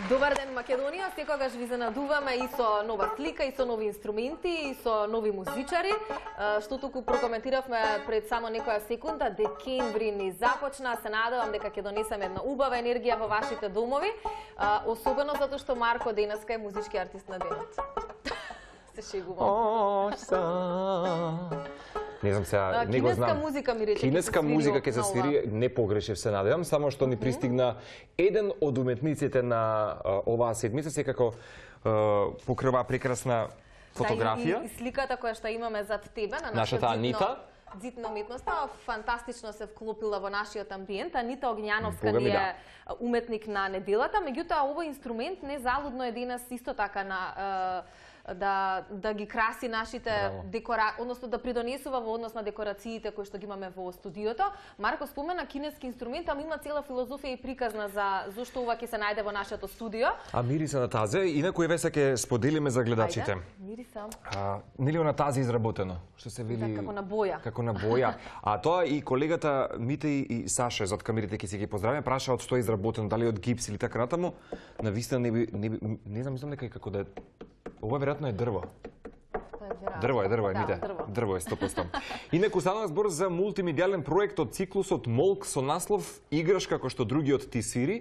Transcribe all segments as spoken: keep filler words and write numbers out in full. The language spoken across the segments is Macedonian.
Добар ден, Македонија. Секогаш ви занадуваме и со нова слика, и со нови инструменти, и со нови музичари. Што туку прокоментиравме пред само некоја секунда, декември ни започна. Се надевам дека ќе донесеме една убава енергија во вашите домови. Особено затоа што Марко денеска е музички артист на денот. Се шегувам. Не знам сега, не го знам. Кинеска музика ми рече. Кинеска музика ќе се свири, не погрешив се надевам, само што ни пристигна еден од уметниците на оваа седмица, секако покрива прекрасна фотографија. И, и сликата која што имаме зад тебе на нашата Анита. Дзитна уметноста фантастично се вклопила во нашиот амбиент. Анита Огњановска ни е уметник на неделата, меѓутоа овој инструмент незалудно е денес исто така на да да ги краси нашите декора, односно да придонесува во однос на декорациите кои што ги имаме во студиото. Марко спомена кинески инструмент, ама има цела филозофија и приказна за зошто ова ќе се најде во нашето студио. А мириса на тазе, инаку еве се ќе споделиме за гледачите. Ајде, мириса. А, нели на тазе изработено, што се вели како на боја. Како на боја. А тоа и колегата Мите и Саше зад камерите ќе се ги поздравиме, праша од што е изработено, дали од гипс или така натаму. Навистина не би, не, би, не знам, мислам дека и како да е. Ова веројатно е дрво. Дрво е, дрво е, Мите. Дрво е сто проценти. Инаку станува збор за мултимедијален проект од циклусот Молк со наслов Играш како што другиот ти свири.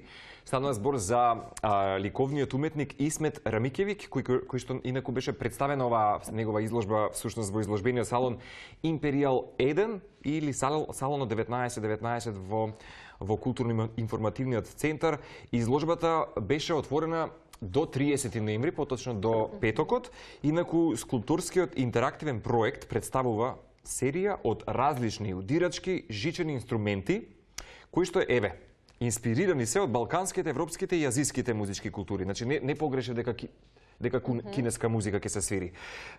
Станува збор за а, ликовниот уметник Исмет Рамикевик, кој, кој што инаку беше представена оваа негова изложба всушност во изложбениот салон Империјал еден или салон деветнаесет деветнаесет во во културно-информативниот центар. Изложбата беше отворена до триесети ноември, поточно до петокот. Инаку скулпторскиот интерактивен проект представува серија од различни удирачки жичени инструменти кои што еве инспирирани се од балканските, европските и азиските музички култури. Значи не не погрешив дека дека кинеска музика ќе се свири.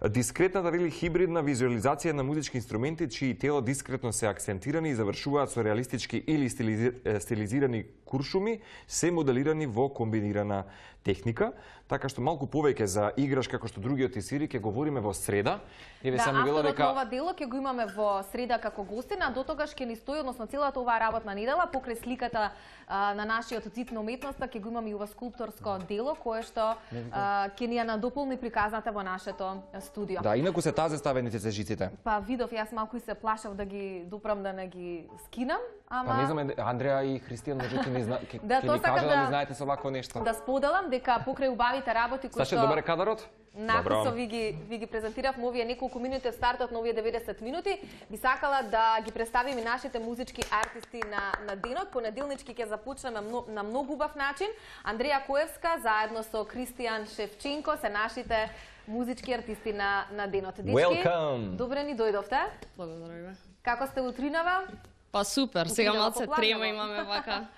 Дискретната вели хибридна визуализација на музички инструменти чии тело дискретно се акцентирани и завршуваат со реалистички или стилизирани куршуми, се моделирани во комбинирана техника, така што малку повеќе за Играш како што другиот ти свири ќе говориме во среда. Еве само вело дека ова дело ќе го имаме во среда како гостина, до тогаш ќе ни стои, односно целата оваа работна недела покрај сликата а, на нашиот цит на уметноста ќе го имаме и ова скулпторско дело кое што а, ќе ни ја надополни приказната во нашето студио. Да, инаку се тазе ставените се жиците. Па видов, јас малку и се плашав да ги допрам да не ги скинам, ама Па не знам, Андреа и Христијан можете ми зна... ќе да, ми кажа да, да ми знаете со вако нешто. Да споделам дека покрај убавите работи кои што Саше, добар е кадарот? Написо ви ги ви ги презентирав овие неколку минути од стартот на овие деветдесет минути. Би сакала да ги представим и нашите музички артисти на на денот. Понеделнички ќе започнеме на многу убав начин. Андреја Коевска заедно со Кристијан Шевченко се нашите музички артисти на на денот. Дечки, welcome. Добре ни дојдовте. Благодарам. Како сте утринава? Па супер, сега малце трема имаме вака.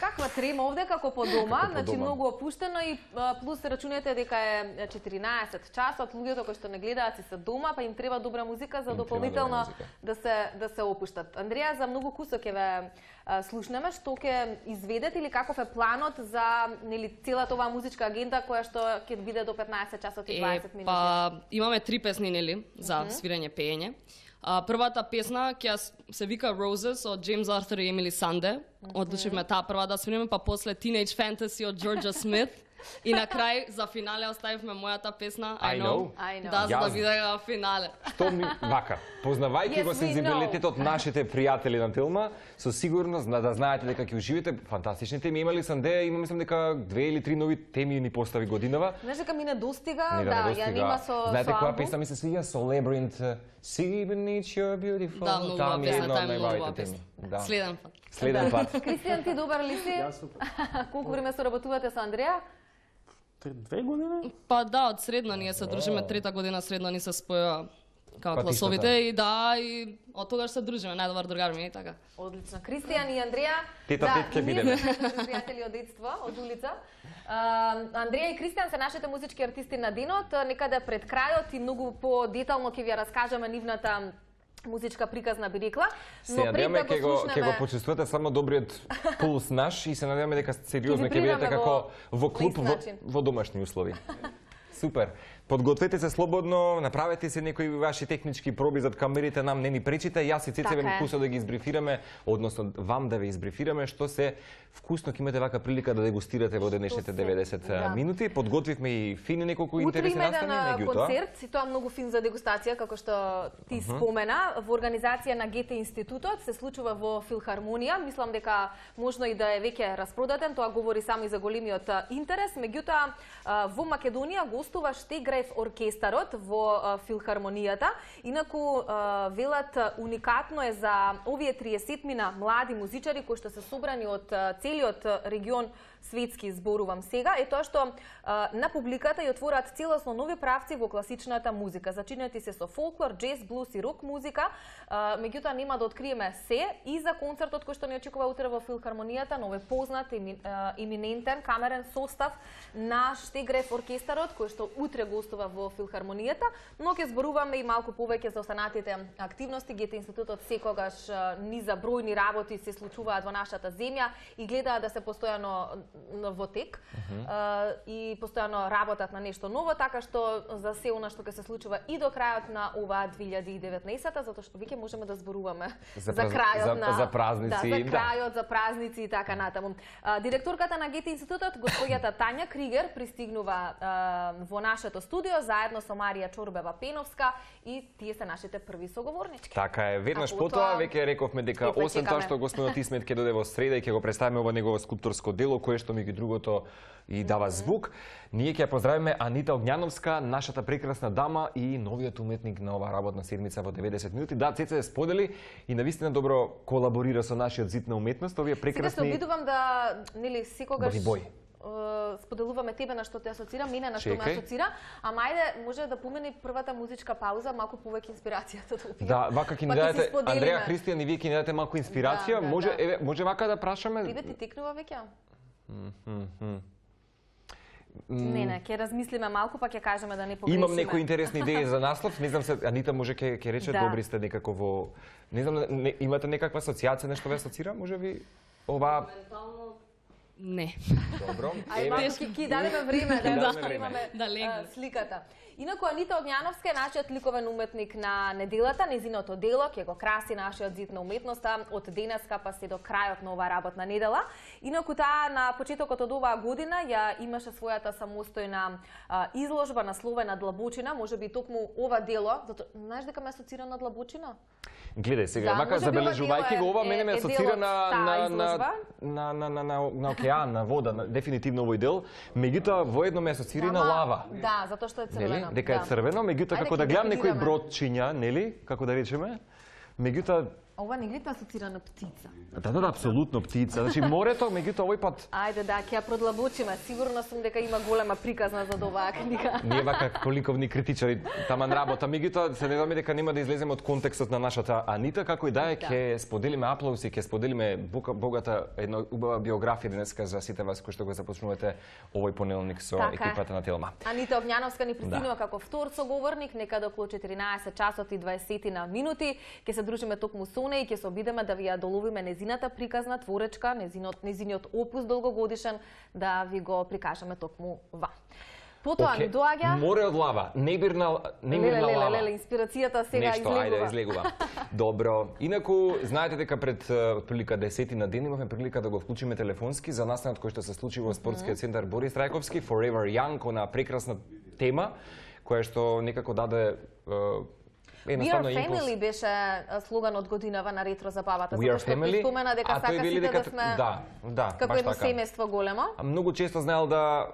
Каква трема овде како по дома, значи многу опуштено и плюс рачунете дека е четиринаесет часот, луѓето кои што не гледаат си се дома, па им треба добра музика за дополнително да се да се опуштат. Андреја, за многу кусо ќе ве слушнеме, што ќе изведете или каков е планот за нели целата оваа музичка агенда која што ќе биде до петнаесет часот и дваесет минути. Па имаме три песни нели за свирење пеење. Uh, првата песна ќе се вика Roses од Джеймс Артур и Емили Санде. Одлучивме таа прва да свириме, па после Teenage Fantasy од Джорџа Смит. И на крај за финале оставивме мојата песна I, I know. I know. Да, за да биде во финале. Што ми вака, познавајќи yes, го сензибилитетот нашите пријатели на Телма, со сигурност да знаете дека ќе уживите фантастични теми. Имали Санде, има мислам дека две или три нови теми ни постави годинава. Знаеш дека ми не достига, да, ја нема со знаете која песна ми се свиѓа со Labyrinth, See beneath your beautiful. Да, многу убава песна, таа е многу убава песна. Следен пат. Следен пат. Кристијан, ти добар ли си? Јас супер. Колку време соработувате со Андреја? Две години? Па да, од средно ние се дружиме, трета година средно ни се споја како класовите и да, и од тогаш се дружиме, најдобар другар ми и така. Одлично. Кристијан и Андреја, тета да, ќе бидеме. пријатели од детство, од улица. Uh, Андреја и Кристијан се нашите музички артисти на денот, некаде пред крајот и многу по-детално ќе ви ја раскажеме нивната музичка приказна би рекла, но пред да го слушнеме... Ќе го почувствувате само добриот пулс наш и се надеваме дека сериозно ќе бидете како во клуб во, во домашни услови. Супер. Подгответе се слободно, направете се некои ваши технички проби зад камерите, нам не ни пречите. Јас и Цеце ве вкусно да ги избрифираме, односно вам да ве избрифираме што се вкусно ќе имате вака прилика да дегустирате во денешните деветдесет да. минути. Подготвивме и фини неколку интересни настани, меѓутоа. Утре има концерт, и тоа многу фин за дегустација, како што ти uh -huh. спомена, во организација на Гете институтот, се случува во Филхармонија. Мислам дека можно и да е веќе распродаден, тоа говори само и за големиот интерес. Меѓутоа, во Македонија гостува Штеграев оркестарот во Филхармонијата. Инаку велат уникатно е за овие триесетмина млади музичари кои што се собрани од целиот регион светски, зборувам сега, е тоа што а, на публиката ја отворат целосно нови правци во класичната музика. Зачинети се со фолклор, джез, блуз и рок музика. А, меѓутоа нема да откриеме се и за концертот кој што ни очекува утре во Филхармонијата, но е познат еми, а, еминентен камерен состав на Штеграев оркестарот кој што утре гостува во Филхармонијата, но ќе зборуваме и малку повеќе за останатите активности. Гете институтот секогаш а, низа бројни работи се случуваат во нашата земја и гледаат да се постојано во тек uh -huh. uh, и постојано работат на нешто ново, така што за се она што ќе се случува и до крајот на оваа две илјади и деветнаесета, затоа што веќе можеме да зборуваме за, за крајот за, на за празници, да, за крајот, да. за празници и така натаму. Uh, директорката на Гете институтот, господјата Тања Кригер, пристигнува uh, во нашето студио заедно со Марија Чорбева-Пеновска и тие се нашите први соговорнички. Така е, веднаш потоа веќе рековме дека освен тоа што господинот Исмет ќе дојде во среда и ќе го представиме ова негово скулпторско дело кое што меѓу другото и дава звук. Ние ќе ја поздравиме Анита Огњановска, нашата прекрасна дама и новиот уметник на оваа работна седмица во деветдесет минути. Да, Цеце сподели и навистина добро колаборира со нашиот зид на уметност. Овие прекрасни. Сега се обидувам да, нели, секогаш бој. споделуваме тебе на што те асоцира, мене на што ме асоцира, ама ајде може да помени првата музичка пауза, малку повеќе инспирацијата да опијам. Да, вака ќе ни дадете Андреја Христијан и вие ќе ни дадете малку инспирација. Да, да, може да. еве може вака да прашаме. Тебе ти текнува веќе? Mm -hmm. Не, не, ќе размислиме малку, па ќе кажеме да не погрешиме. Имам некои интересни идеи за наслов, не знам се, Анита може ќе ќе рече, да. Добри сте некако во, не знам, не, имате некаква асоциација, нешто ве асоцира, може би ова Не. Добро. Ајде, ќе ќе дадеме време да, да имаме да легне сликата. Инаку Анита Огњановска е нашиот ликовен уметник на неделата, незиното дело ќе го краси нашиот зид на уметноста од денеска па се до крајот на оваа работна недела. Инаку таа на почетокот од оваа година ја имаше својата самостојна а, изложба насловена Длабочина, можеби токму ова дело, затоа знаеш дека ме асоцира на Длабочина? Гледај сега, да, вака забележувајќи го ова, мене ме асоцира на на на на на на на на океан, на вода, на, дефинитивно овој дел. Меѓутоа воедно ме асоцира и на лава. Да, затоа што е црвено. Дека е да. црвено, меѓутоа како да гледам некои бродчиња, нели, како да речеме, меѓутоа ова не гледа асоцира на птица. Да, да, да, апсолутно птица. Значи морето, меѓутоа овој пат. Ајде да, ќе ја продлабочиме. Сигурно сум дека има голема приказна за оваа книга. Ние вака коликовни критичари таман работа, меѓутоа се надеваме дека нема да излеземе од контекстот на нашата Анита, како и да е, ќе споделиме аплауси, ќе споделиме богата една убава биографија денеска за сите вас кои што го започнувате овој понеделник со така екипата на Телма. Анита Огњановска ни пристигнува да. како втор соговорник, некаде околу четиринаесет часот и дваесет минути. Ќе се дружиме токму со неа и ќе се обидеме да ви ја доловиме незината приказна творечка, незинот незиниот опус долгогодишен, да ви го прикажеме токму ва. Потоа okay. ми доаѓа Море од лава, небирна небирна леле, лава. Леле, леле, инспирацијата сега Нешто, излегува. Нешто, ајде, излегува. Добро. Инаку, знаете дека пред прилика десетина ден имавме прилика да го вклучиме телефонски за настанот кој што се случи во спортскиот центар Борис Трајковски, Forever Young, на прекрасна тема, која што некако даде We are family беше слоган од годинава на ретро забавата. We are family. Спомена дека сака сите дека... да сме да, да, како едно семејство големо. Многу често знаел да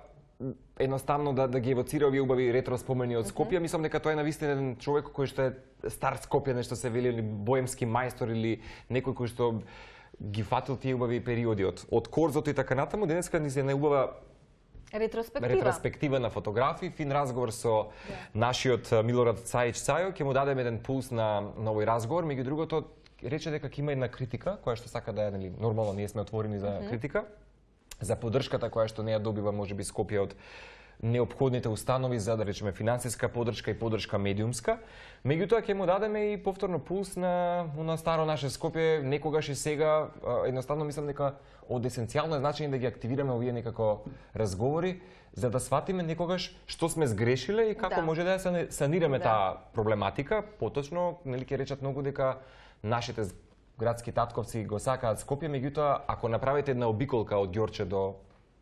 едноставно да да ги евоцира овие убави ретро спомени од Скопје. Mm -hmm. Мислам дека тоа е навистина еден човек кој што е стар Скопје, нешто се вели, или боемски мајстор или некој кој што ги фатил тие убави периоди од од Корзото и така натаму. Денеска ни се наубава Ретроспектива. Ретроспектива на фотографии, фин разговор со yeah. нашиот Милорад Цајич Цајо, ќе му дадеме еден пулс на, на овој разговор, меѓу другото рече дека ќе има една критика, која што сака да е, нели, нормално ние сме отворени за mm -hmm. критика, за поддршката која што не ја добива можеби Скопје од неопходните установи за, да речеме, финансиска поддршка и поддршка медиумска. Меѓутоа ќе му дадеме и повторно пулс на на старо наше Скопје, некогаш и сега. Едноставно мислам дека од есенцијално значење да ги активираме овие некако разговори, за да сватиме некогаш што сме сгрешиле и како да. може да ја санираме да. таа проблематика. Поточно, нели ќе речат многу дека нашите градски татковци го сакаат Скопје, меѓутоа ако направите една обиколка од Ѓорче до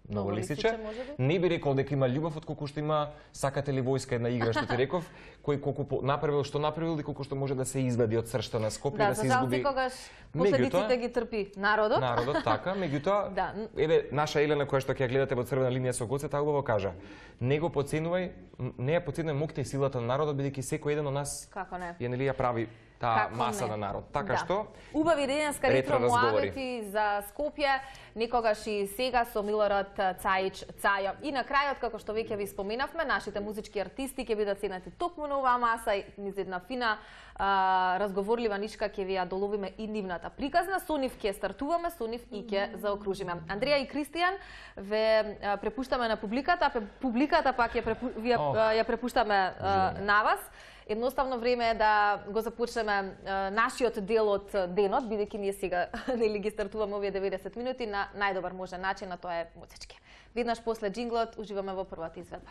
Новолисиче, не би рекол дека има љубов отколку што има сакате ли војска, една игра што ти реков, кој колку направил што направил и колку што може да се извади од сршта на Скопје да, да се изгуби. Да, секогаш последиците ги трпи народот. Народот, така, меѓутоа, да. еве наша Елена која што ќе ја гледате во црвена линија со Гоце, таа убаво кажа: не го подценувај, не ја подценувај моќта и силата на народот, бидејќи секој еден од нас како не ја нели ја прави таа маса на народ. Така да. што убави денеска ретро муабети за Скопје, некогаш и сега со Милорад Цаич Цајо. И на крајот, како што веќе ви споменавме, нашите музички артисти ќе бидат седнати токму на оваа маса и низ една фина а, разговорлива нишка ќе ви ја доловиме и нивната приказна. Со нив ќе стартуваме, со нив и ќе заокружиме. Андреја и Кристијан ве а, препуштаме на публиката, публиката пак ја, препу, ја, oh. ја препуштаме а, на вас. Едноставно време е да го започнеме е, нашиот дел од денот, бидејќи ние сега нели ги стартуваме овие деветдесет минути на најдобар можен начин, а тоа е музички. Веднаш после джинглот уживаме во првата изведба.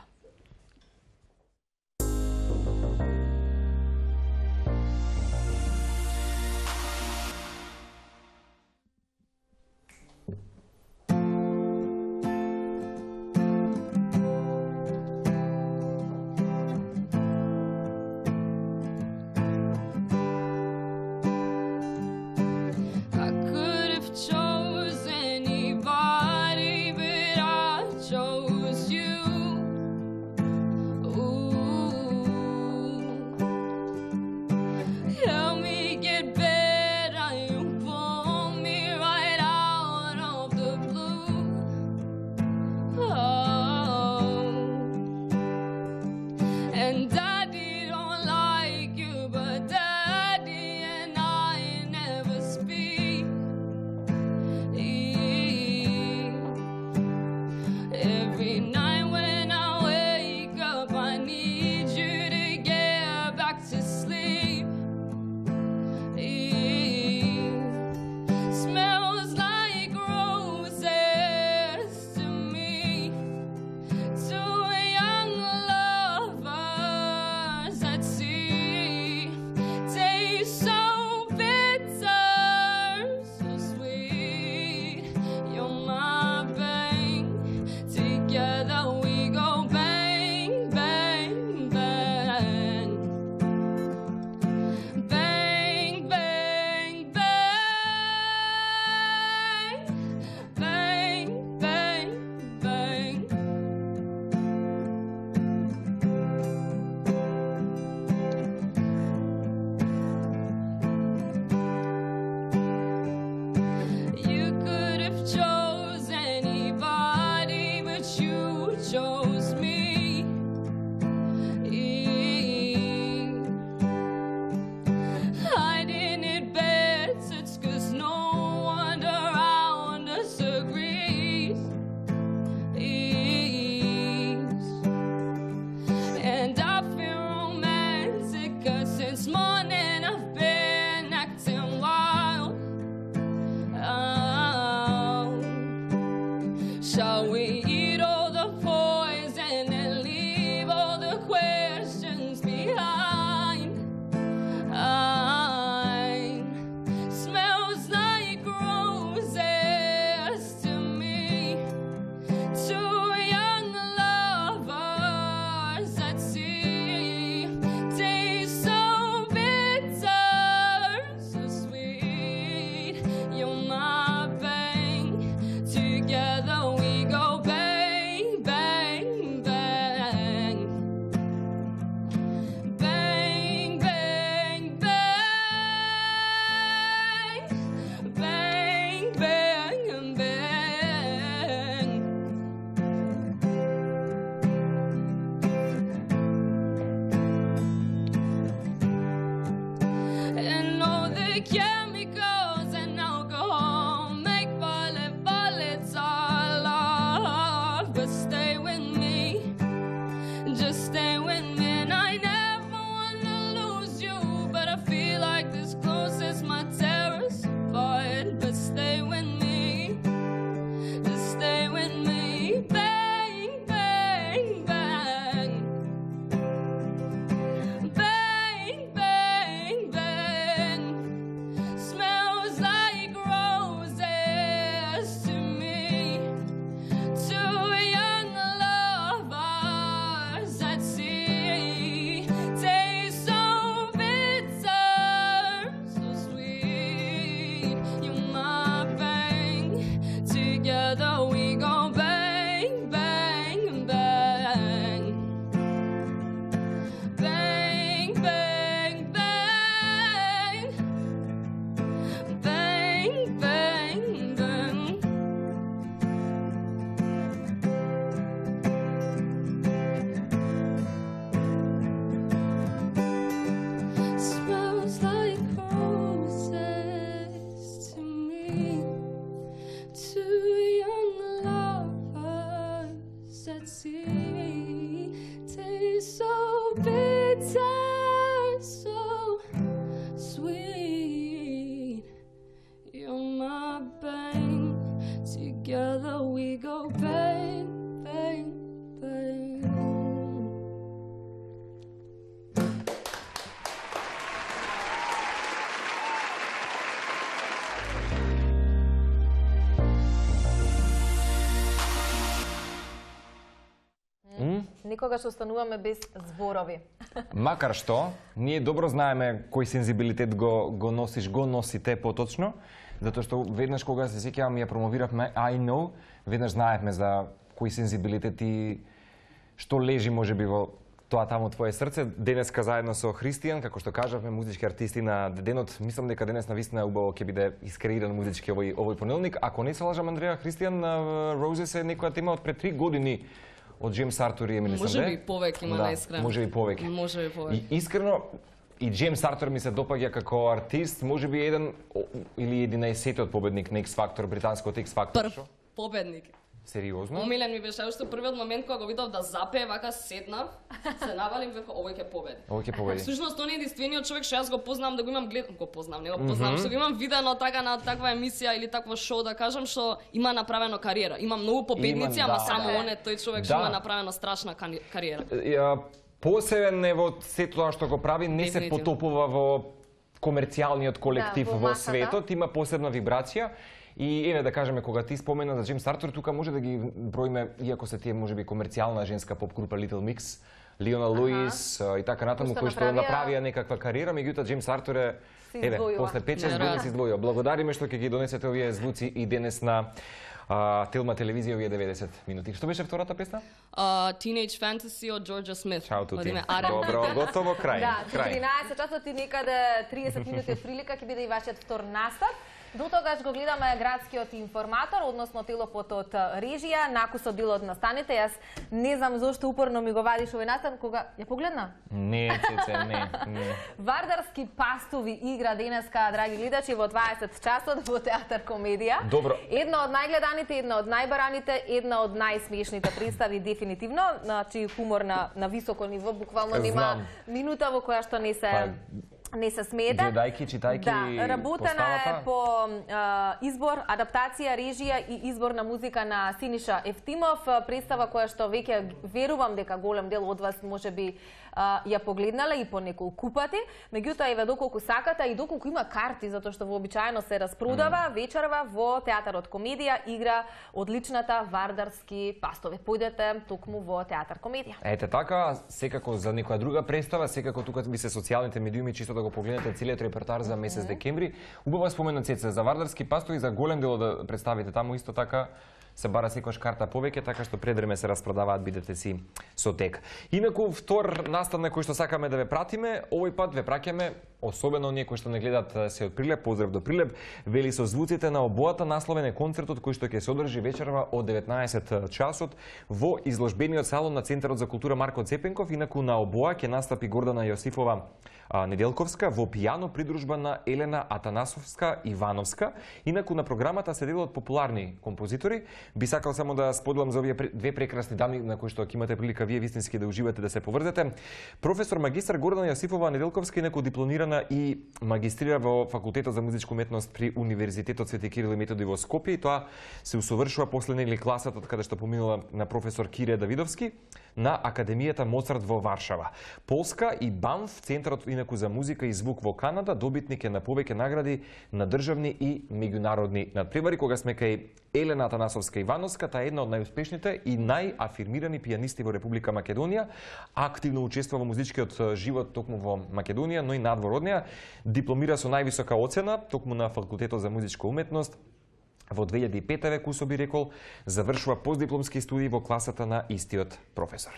некогаш остануваме без зборови. Макар што, ние добро знаеме кој сензибилитет го, го носиш, го носите поточно, затоа што веднаш кога се сеќавам ја промовиравме I know, веднаш знаевме за кој сензибилитет и што лежи можеби во тоа таму твое срце. Денеска заедно со Христијан, како што кажавме, музички артисти на денот, мислам дека денес навистина убаво ќе биде искреиран музички овој овој понеделник. Ако не се лажам, Андреја, Христијан Roses е некоја тема од пред три години од Джеймс Артур и Емили Санде. Можеби повеќе, има да, наискрено. Можеби повеќе. Можеби повеќе. И искрено и Джеймс Артур ми се допаѓа како артист, можеби еден или единаесеттиот победник на X Factor, британското X Factor. Прв победник. Сериозно? Омилен ми беше уште првиот момент кога го видов да запее, вака седнав, се навалим веќе овој ќе победи. Овој ќе победи. Всушност он е единствениот човек што јас го познавам да го имам глед, го познавам, не го познавам, mm -hmm. што го имам видено така на таква емисија или такво шоу да кажам што има направено кариера. Има многу победници, има, ама да. само он е тој човек што Да. има направено страшна кариера. Ја, посебен е во сето тоа што го прави, не се Дефинитивно. потопува во комерцијалниот колектив Да, во во масата. светот, има посебна вибрација. И еве да кажеме, кога ти спомена за Джеймс Артур, тука може да ги броиме, иако се тие можеби комерцијална женска поп група Little Mix, Лиона Луис и така натаму, кои што направија- направија некаква кариера, меѓутоа Джеймс Артур е Се еве, издвојува. после пет-шест години се издвојува. Благодариме што ќе ги донесете овие звуци и денес на а, Телма телевизија овие деветдесет минути. Што беше втората песна? Uh, Teenage Fantasy од Georgia Smith. Чао тути. Од име Ар енд Би. Добро, готово, крај. Да, крај. четиринаесет часот и некаде триесет минути од прилика ќе биде и вашиот втор настап. До тогаш го гледаме градскиот информатор, односно телопот од режија, накусот дел од настаните. Јас не знам зошто упорно ми го вадиш овој настан, кога ја погледна? Не, Цеце, не, не. Вардарски пастови игра денеска, драги гледачи, во дваесет часот во Театар Комедија. Добро. Една од најгледаните, една од најбараните, една од најсмешните представи дефинитивно, значи хумор на на високо ниво, буквално нема Знам. минута во која што не се Па, не се смета. гледајќи, читајќи Да, работена поставата. е по а, избор, адаптација, режија и избор на музика на Синиша Ефтимов, представа која што веќе верувам дека голем дел од вас можеби а, ја погледнале и по неколку пати. Меѓутоа, еве доколку сакате и доколку има карти, затоа што вообичаено се распродава, mm. вечерва во Театарот Комедија игра одличната Вардарски пастови. Појдете токму во Театар Комедија. Ете така, секако за некоја друга представа, секако тука би се социјалните медиуми чисто да го погледнете целиот репертар за месец декември. Убава споменат Цеце за Вардарски пастови, за голем дел да представите таму исто така се бара секојаш карта повеќе, така што пред време се распродаваат, бидете си со тек. Инаку втор настан на кој што сакаме да ве пратиме, овој пат ве праќаме, особено оние кои што не гледат се од Прилеп, поздрав до Прилеп, вели со звуците на обојата насловен е концертот кој што ќе се одржи вечерва од деветнаесет часот во изложбениот салон на Центарот за култура Марко Цепенков. Инаку на обоа ќе настапи Гордана Јосифова Неделковска во пијано придружба на Елена Атанасовска Ивановска. Инаку на програмата се делат популарни композитори. Би сакал само да споделам за овие две прекрасни дами на кои што ќе имате прилика вие вистински да уживате, да се поврзете. Професор магистар Гордана Јосифова Неделковска, инаку дипломирана и магистрира во Факултетот за музичка уметност при Универзитетот Свети Кирил и Методи во Скопје, и тоа се усовршува после нели класата од каде што поминала на професор Кире Давидовски на Академијата Моцарт во Варшава. Полска и БАМФ, Центарот инаку за музика и звук во Канада, добитник е на повеќе награди на државни и меѓународни надпревари. Кога сме кај Елена Атанасовска Ивановска, таа е една од најуспешните и најафирмирани пијанисти во Република Македонија, активно учествува во музичкиот живот токму во Македонија, но и надвор од неа. Дипломира со највисока оцена токму на Факултетот за музичка уметност. Во две илјади и пета век, Кусо би рекол, завршува постдипломски студии во класата на истиот професор.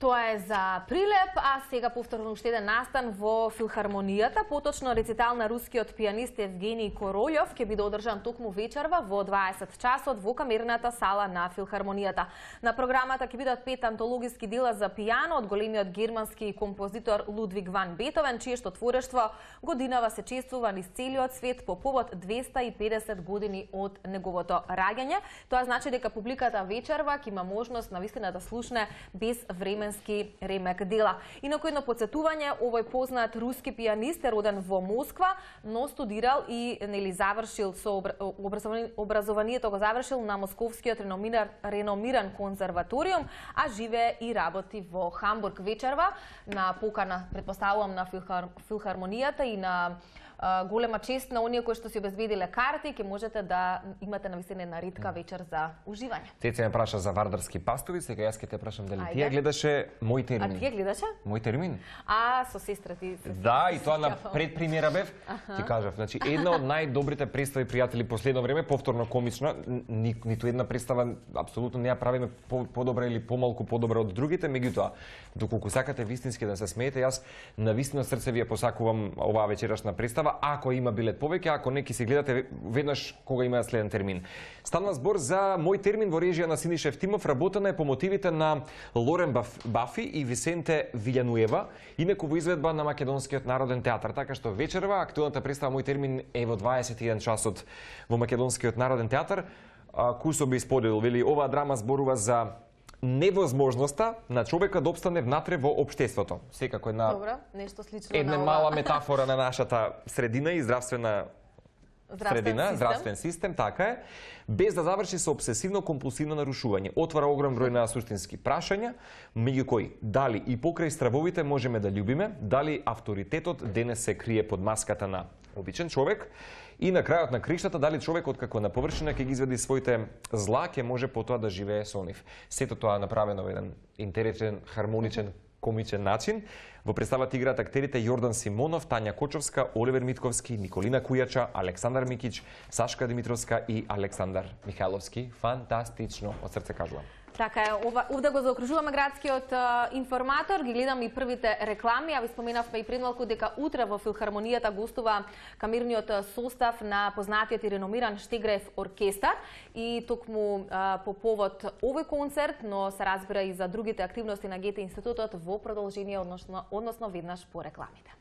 Тоа е за Прилеп, а сега повторно уште еден настан во Филхармонијата, поточно рецитал на рускиот пијанист Евгений Королјов ќе биде одржан токму вечерва во дваесет часот во камерната сала на Филхармонијата. На програмата ќе бидат пет антологиски дела за пијано од големиот германски композитор Лудвиг ван Бетовен, чие што творештво годинава се чествува низ целиот свет по повод двеста и педесет години од неговото раѓање. Тоа значи дека публиката вечерва ќе има можност навистина да слушне без време ремек дела. Инаку едно подсетување, овој познат руски пијанист е роден во Москва, но студирал и нели завршил со образование, образованието го завршил на Московскиот реномиран, реномиран конзерваториум, а живее и работи во Хамбург. Вечерва на покана, претпоставувам, на Филхар, Филхармонијата и на голема чест на оние кои што си обезбедиле карти, ќе можете да имате навистина една ретка вечер за уживање. Цеце ме праша за вардарски пастови, сега јас ќе те прашам дали ти ја гледаше Мој термин. А ти ја гледаше? Мој термин? А, со сестра ти. Да, и тоа на предпремиера бев. Ти кажав, значи една од најдобрите представи, пријатели, последно време, повторно комична, ни, ниту една представа апсолутно не ја правиме по, подобра или помалку подобра од другите, меѓутоа, доколку сакате вистински да се смеете, јас на вистина срце ви ја посакувам оваа вечерашна представа, ако има билет повеќе, ако не ќе си гледате веднаш кога има следен термин. Станува збор за Мој термин во режија на Синиша Евтимов, работена е по мотивите на Лорен Бафи и Висенте Вилјануева, инаку во изведба на Македонскиот народен театар. Така што вечерва актуелната представа Мој термин е во дваесет и еден часот во Македонскиот народен театар. Кусо би споделил, вели, оваа драма зборува за невозможноста на човекот да опстане внатре во општеството. Секако една Добро, нешто слично една на мала метафора на нашата средина и здравствена Здравствен средина, систем. здравствен систем, така е, без да заврши со обсесивно-компулсивно нарушување. Отвара огром број на суштински прашања, меѓу кои дали и покрај стравовите можеме да љубиме, дали авторитетот денес се крие под маската на обичен човек, и на крајот на криштата, дали човекот како на површина ќе ги изведи своите зла, ќе може потоа да живее со нив. Сето тоа направено во еден интересен, хармоничен, комичен начин. Во представата играат актерите Јордан Симонов, Тања Кочовска, Оливер Митковски, Николина Кујача, Александар Микич, Сашка Димитровска и Александар Михайловски. Фантастично, од срце кажувам. Така е, ова, овде го заокружуваме градскиот а, информатор, ги гледам и првите реклами, а ви споменавме и пред малку дека утре во Филхармонијата гостува камерниот состав на познатиот и реномиран Штеграев оркестар и токму а, по повод овој концерт, но се разбира и за другите активности на Гете институтот во продолжение, односно, односно веднаш по рекламите.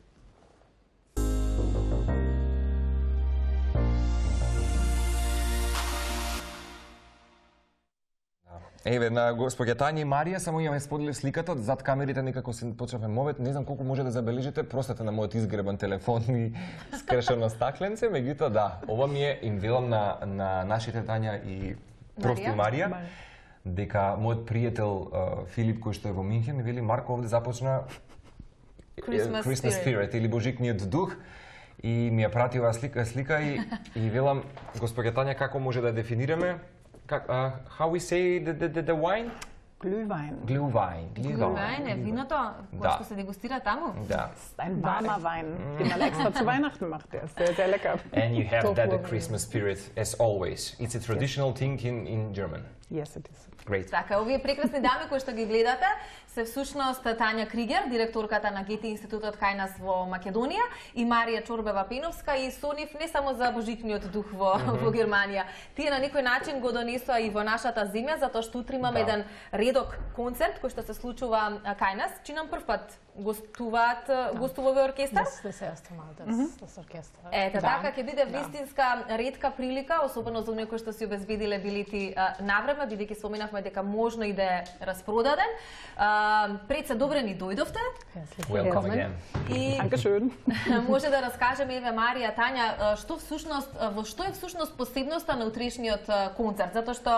Еве, на господја Тања и Марија, само ја ме споделив сликата, зад камерите некако се почнавме мовет, не знам колку може да забележите, простете на мојот изгребан телефон и скршено стакленце, меѓутоа да, ова ми е инвелам на, на нашите Тања и прости Марија, Марија, дека мојот пријател uh, Филип, кој што е во Минхен, ми вели, Марко, овде започна Christmas, Christmas Spirit, Spirit или Божикниот дух, и ми ја прати оваа слика, слика и, и велам, господја Тања, како може да дефинираме Как, uh, how we say the, the, the, the wine? Glühwein. Glühwein. Glühwein е виното кое што се дегустира таму? Да. Ein warmer Wein, den man extra zu Weihnachten macht. Der ist sehr, sehr lecker. And you have that the Christmas spirit as always. It's a traditional thing in, in German. Yes, it is. Great. Така, овие прекрасни дами кои што ги гледате се всушност Тања Кригер, директорката на Гете институтот кај нас во Македонија, и Марија Чорбева-Пеновска, и со нив не само за божичниот дух во, mm -hmm. во Германија. Тие на некој начин го донесоа и во нашата земја, затоа што утре имаме да. еден редок концерт кој што се случува кај нас. Чи нам прв пат гостуваат, да. гостува овој оркестар? Das, das erste Mal, das, mm -hmm. das Orchester. Ете, да. така ќе биде вистинска ретка прилика, особено за оние кои што си обезбедиле билети навреме, бидејќи споменавме дека можно и да е распродаден. Пред се добре ни дојдовте. Welcome again. И Dankeschön. може да раскажеме, еве Марија, Тања, што всушност во што е всушност посебноста на утрешниот концерт, затоа што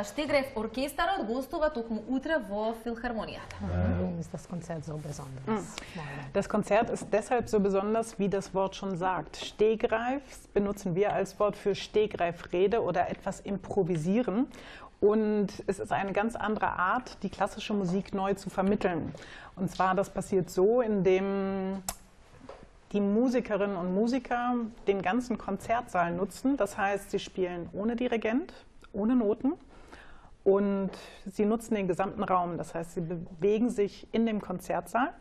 Штеграев оркестарот гостува токму утре во Филхармонијата. Warum ist das Konzert so besonders? Das Konzert ist deshalb so besonders, wie das Wort schon sagt. Stegreif benutzen wir als Wort für Stegreifrede oder etwas improvisieren. Und es ist eine ganz andere Art, die klassische Musik neu zu vermitteln. Und zwar, das passiert so, indem die Musikerinnen und Musiker den ganzen Konzertsaal nutzen. Das heißt, sie spielen ohne Dirigent, ohne Noten. Und sie nutzen den gesamten Raum. Das heißt, sie bewegen sich in dem Konzertsaal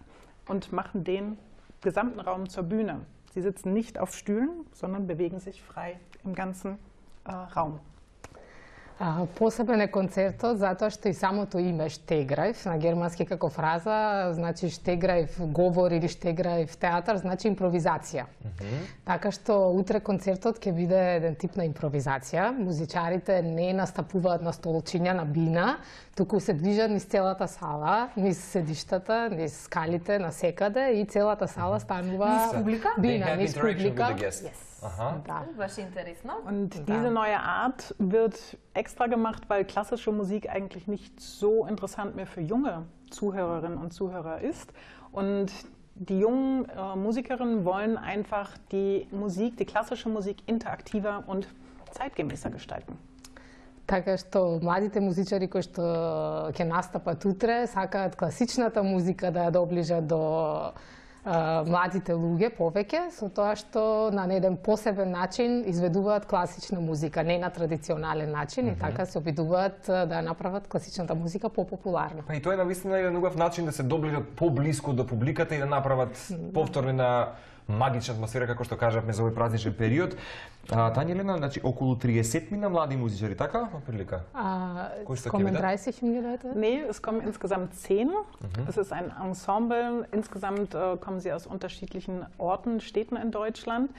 und machen den gesamten Raum zur Bühne. Sie sitzen nicht auf Stühlen, sondern bewegen sich frei im ganzen äh, Raum. А, посебен е концертот затоа што и самото име Штеграев на германски како фраза значи Штеграев говор или Штеграев театар значи импровизација. Mm -hmm. Така што утре концертот ќе биде еден тип на импровизација. Музичарите не настапуваат на столчиња на бина, туку се движат низ целата сала, низ седиштата, низ скалите насекаде и целата сала станува низ публика. Бина, низ публика. Aha. Da. Was interessant. Und diese neue Art wird extra gemacht, weil klassische Musik eigentlich nicht so interessant mehr für junge Zuhörerinnen und Zuhörer ist. Und die jungen äh, Musikerinnen wollen einfach die Musik, die klassische Musik interaktiver und zeitgemäßer gestalten. Така што младите музичари кои што ќе настапат утре сакаат класичната музика да ја доближат до а, младите луѓе повеќе, со тоа што на еден посебен начин изведуваат класична музика, не на традиционален начин, mm -hmm. и така се обидуваат да ја направат класичната музика попопуларна. Па и тоа е навистина еден убав начин да се доближат поблиску до публиката и да направат mm -hmm. повторно на магична атмосфера, како што кажавме за овој празничен период. А, Тања Елена, значи, околу триесет мина млади музичари, така, прилика? Es kommen dreißig junge Leute? Nee, es kommen insgesamt zehn. Mhm. Es ist ein Ensemble. Insgesamt äh, kommen sie aus unterschiedlichen Orten, Städten in Deutschland.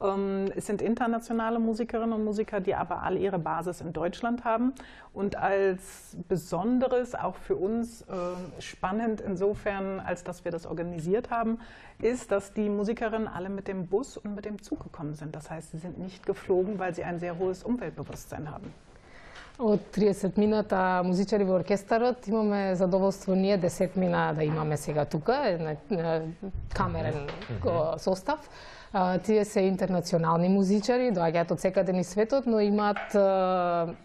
Ähm, es sind internationale Musikerinnen und Musiker, die aber alle ihre Basis in Deutschland haben. Und als Besonderes, auch für uns äh, spannend insofern, als dass wir das organisiert haben, ist, dass die Musikerinnen alle mit dem Bus und mit dem Zug gekommen sind. Das heißt, sie sind nicht geflogen, weil sie ein sehr hohes Umweltbewusstsein haben. Од триесет мината музичари во оркестарот имаме задоволство ние десет мина да имаме сега тука, камерен состав. Тие се интернационални музичари, доаѓаат од секаде низ светот, но имаат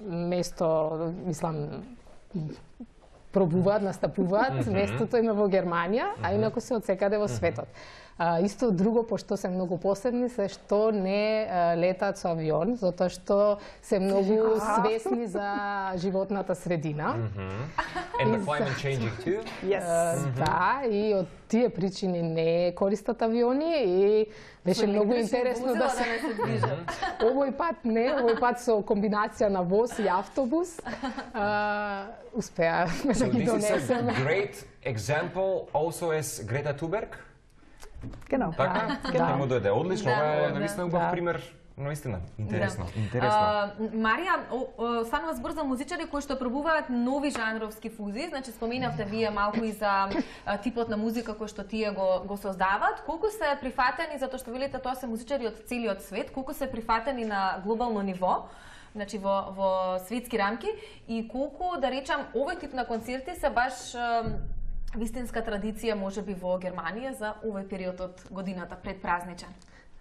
место, мислам, пробуваат, настапуваат, mm -hmm. местото им е во Германија, mm -hmm. а инаку се од секаде во светот. А, исто друго, пошто се многу посебни, се што не а, летаат со авион, затоа што се многу свесни за животната средина. Mm -hmm. And the climate changing too? Yes. А, mm -hmm. Да, и од тие причини не користат авиони и беше многу интересно да се овој пат не, овој пат со комбинација на воз и автобус а, успеавме да ги донесеме. So this is a great example also as Greta Thunberg? Genau. Така? Да. Нему дојде одлично, ова е да, навистина убав да. пример. Наистина, интересно, Да. интересно. А, Марија, о, о, станува збор за музичари кои што пробуваат нови жанровски фузии, значи споменавте вие малку и за а, типот на музика кој што тие го, го создаваат. Колку се прифатени, затоа што велите тоа се музичари од целиот свет, колку се прифатени на глобално ниво, значи во, во светски рамки, и колку, да речам, овој тип на концерти се баш а, вистинска традиција можеби во Германија за овој период од годината предпразничен?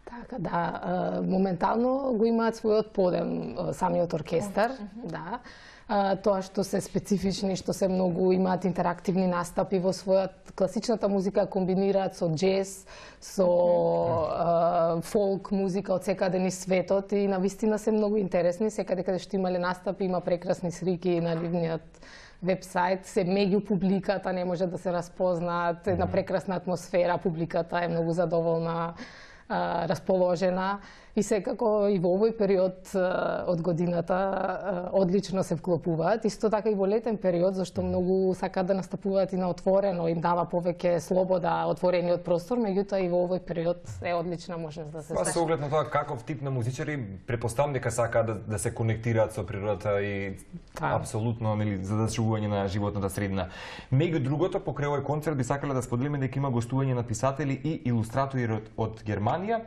Така, да, моментално го имаат својот подем самиот оркестар, mm -hmm. да. Тоа што се специфични, што се многу имаат интерактивни настапи во својата класичната музика, комбинираат со джез, со mm -hmm. фолк музика од секаде низ светот и навистина се многу интересни. Секаде каде што имале настапи има прекрасни слики на нивниот вебсайт, се меѓу публиката, не може да се разпознаат, една прекрасна атмосфера, публиката е многу задоволна, расположена и секако и во овој период од годината одлично се вклопуваат. Исто така и во летен период, зашто многу сакаат да настапуваат и на отворено, им дава повеќе слобода, отворениот простор, меѓутоа и во овој период е одлична можност да се Па со оглед на тоа каков тип на музичари, претпоставам дека сакаат да, да се конектираат со природата и да. апсолутно нели задачување на животната средина. Меѓу другото, покрај овој концерт би сакале да споделиме дека има гостување на писатели и илустратори од, од Германија.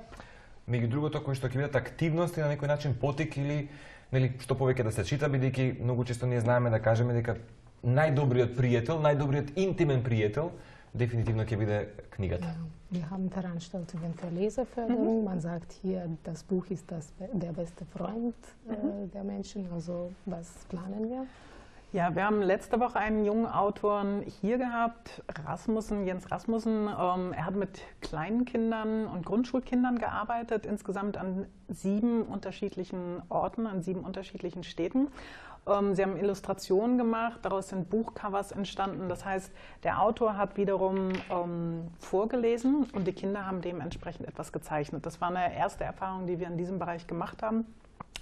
Меѓу другото, кои што ќе бидат активности на некој начин потик или нели што повеќе да се чита, бидејќи многу често ние знаеме да кажеме дека најдобриот пријател, најдобриот интимен пријател дефинитивно ќе биде книгата. Ja, wir haben veranstaltet eventuell Leseförderung. Man sagt hier, das Buch ist das, der beste Freund äh, der Menschen. Also was planen wir? Ja, wir haben letzte Woche einen jungen Autoren hier gehabt, Rasmussen, Jens Rasmussen. Ähm, er hat mit kleinen Kindern und Grundschulkindern gearbeitet, insgesamt an sieben unterschiedlichen Orten, an sieben unterschiedlichen Städten. Ähm, sie haben Illustrationen gemacht, daraus sind Buchcovers entstanden. Das heißt, der Autor hat wiederum ähm, vorgelesen und die Kinder haben dementsprechend etwas gezeichnet. Das war eine erste Erfahrung, die wir in diesem Bereich gemacht haben,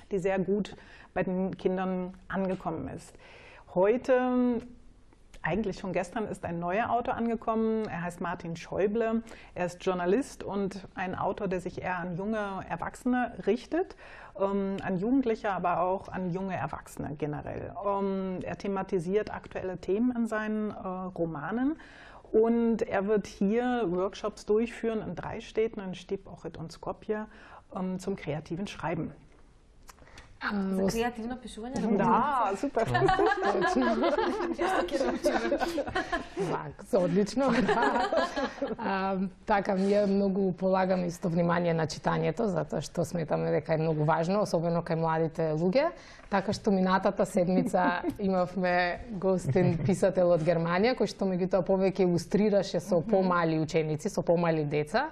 die sehr gut bei den Kindern angekommen ist. Heute, eigentlich schon gestern, ist ein neuer Autor angekommen. Er heißt Martin Schäuble. Er ist Journalist und ein Autor, der sich eher an junge Erwachsene richtet, ähm, an Jugendliche, aber auch an junge Erwachsene generell. Ähm, er thematisiert aktuelle Themen in seinen äh, Romanen. Und er wird hier Workshops durchführen in drei Städten, in Stip, Ohrid und Skopje, ähm, zum kreativen Schreiben. За креативно пишување? Да, супер. Вак, одлично. А, така, ние многу полагаме исто внимание на читањето, затоа што сметаме дека е многу важно, особено кај младите луѓе. Така што минатата седмица имавме гостин писател од Германија, кој што меѓутоа повеќе илустрираше со помали ученици, со помали деца.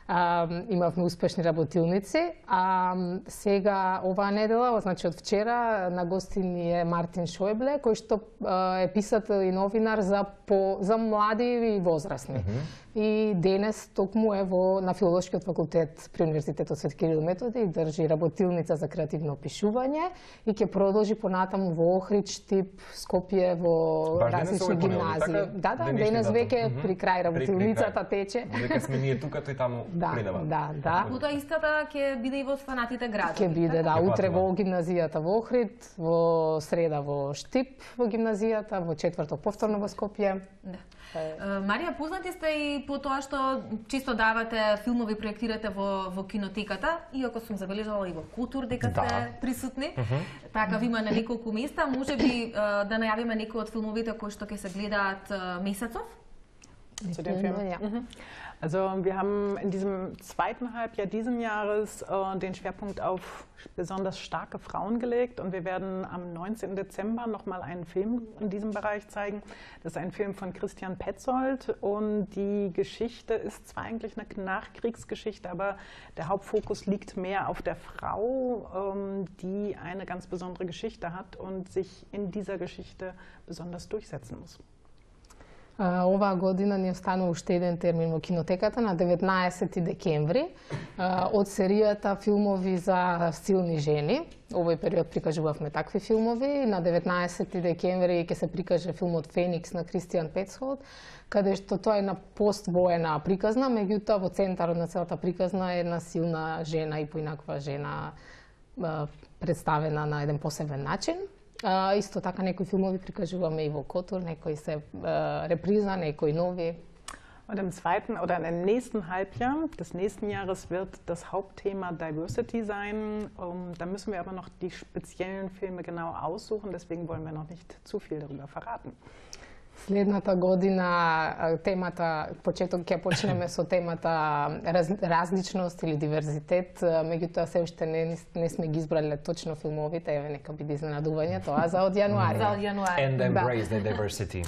Uh, имавме успешни работилници, а сега оваа недела, значи од вчера, на гостин е Мартин Шојбле, кој што uh, е писател и новинар за по за млади и возрастни. Mm -hmm. И денес токму е во на филолошкиот факултет при Универзитетот Свети Кирил и Методи и држи работилница за креативно пишување и ќе продолжи понатаму во Охрид, Штип, Скопје, во Баш различни гимназии. Така, да, да, денес веќе mm -hmm. при крај работилницата тече. Веќе сме ние тука, тој таму да, принава. Да, да. Утоа истата ќе биде и во останатите градови. Ќе биде, да, утре во гимназијата во Охрид, во среда во Штип во гимназијата, во четврток повторно во Скопје. Да. Марија, познати сте и по тоа што често давате филмови, проектирате во, во кинотеката, иако сум забележала и во Култур дека сте да. присутни. Uh -huh. Така ви има на неколку места. Може би да најавиме некои од филмовите кои што ќе се гледаат месецов? Zu dem Film. Ja. Mhm. Also wir haben in diesem zweiten Halbjahr diesen Jahres äh, den Schwerpunkt auf besonders starke Frauen gelegt und wir werden am neunzehnten Dezember nochmal einen Film in diesem Bereich zeigen. Das ist ein Film von Christian Petzold und die Geschichte ist zwar eigentlich eine Nachkriegsgeschichte, aber der Hauptfokus liegt mehr auf der Frau, ähm, die eine ganz besondere Geschichte hat und sich in dieser Geschichte besonders durchsetzen muss. Uh, оваа година ни останува уште еден термин во кинотеката на деветнаесети декември uh, од серијата филмови за силни жени. Овој период прикажувавме такви филмови. На деветнаесети декември ќе се прикаже филмот Феникс на Кристијан Петцолд, каде што тоа е на поствоена приказна, меѓутоа во центарот на целата приказна е една силна жена и поинаква жена uh, представена на еден посебен начин. Uh, isto така некои филмови прикажуваме и во Котур, некои се uh, реприза, некои нови. Und im zweiten oder im nächsten Halbjahr des nächsten Jahres wird das Hauptthema Diversity sein. Um, da müssen wir aber noch die speziellen Filme genau aussuchen, deswegen wollen wir noch nicht zu viel darüber verraten. Следната година темата, почеток ќе почнеме со темата раз, различност или диверзитет, меѓутоа се уште не, не сме ги избрале точно филмовите, еве нека биде изненадување, тоа за од јануари. За од јануари. And embrace the diversity.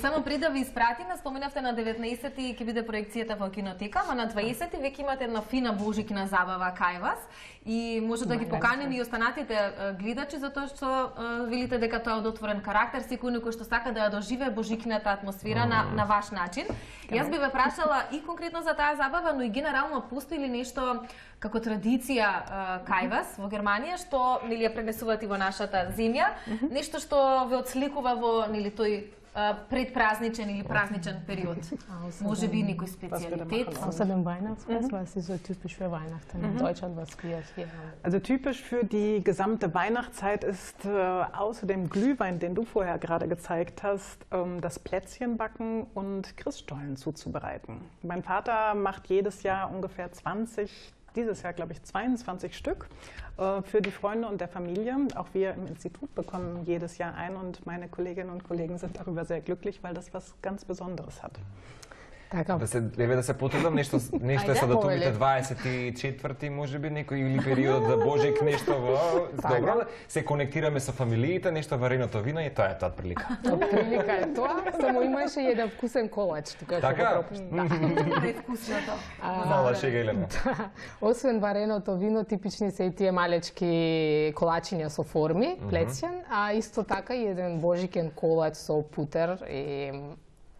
Само пред да ви испратиме, споменавте на деветнаесети ќе биде проекцијата во кинотека, а на дваесети веќе имате една фина божикна забава кај вас и може да ги поканим и останатите гледачи затоа што велите дека тоа е од отворен карактер, секој некој што сака да ја доживее божикната атмосфера на, на ваш начин. Јас би ве прашала и конкретно за таа забава, но и генерално постои ли нешто како традиција кај вас во Германија што нели ја пренесувате во нашата земја, нешто што ве отсликува во нели тој предпразничен или празничен период. Може би некој специалитет. Außerdem Weihnachtsfest, was ist so typisch für Weihnachten in Deutschland, was wir hier haben? Also typisch für die gesamte Weihnachtszeit ist äh, außer dem Glühwein, den du vorher gerade gezeigt hast, ähm, das Plätzchenbacken und Christstollen zuzubereiten. Mein Vater macht jedes Jahr ungefähr zwanzig, dieses Jahr glaube ich zweiundzwanzig Stück äh, für die Freunde und der Familie. Auch wir im Institut bekommen jedes Jahr ein und meine Kolleginnen und Kollegen sind darüber sehr glücklich, weil das was ganz Besonderes hat. Така. Да се еве да се потрудам нешто нешто е со датумите дваесет и четврти можеби некој или период за Божик нешто во добро се конектираме со фамилиите, нешто вареното вино и тоа е тоа прилика. Прилика е тоа, само имаше и еден вкусен колач тука што го пропуштам. Е вкусното. Мала шега Елена. Освен вареното вино, типични се и тие малечки колачиња со форми, плецен, а исто така и еден божикен колач со путер и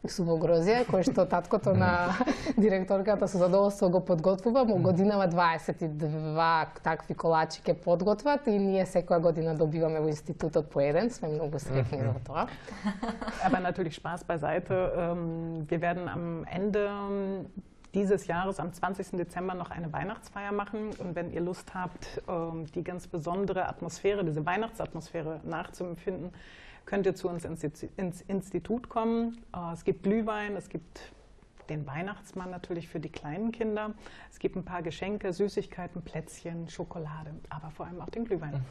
сувогрозија, кој што таткото на директорката со задоволство го подготвува, му годинава дваесет и два такви колачи ке подготват и ние секоја година добиваме во институтот по еден, сме многу среќни за тоа. Aber natürlich Spaß beiseite. Wir werden am Ende dieses Jahres am zwanzigsten Dezember noch eine Weihnachtsfeier machen und wenn ihr Lust habt, die ganz besondere Atmosphäre, diese Weihnachtsatmosphäre nachzuempfinden, könnt ihr zu uns ins Institut kommen. Es gibt Glühwein, es gibt den Weihnachtsmann natürlich für die kleinen Kinder. Es gibt ein paar Geschenke, Süßigkeiten, Plätzchen, Schokolade, aber vor allem auch den Glühwein.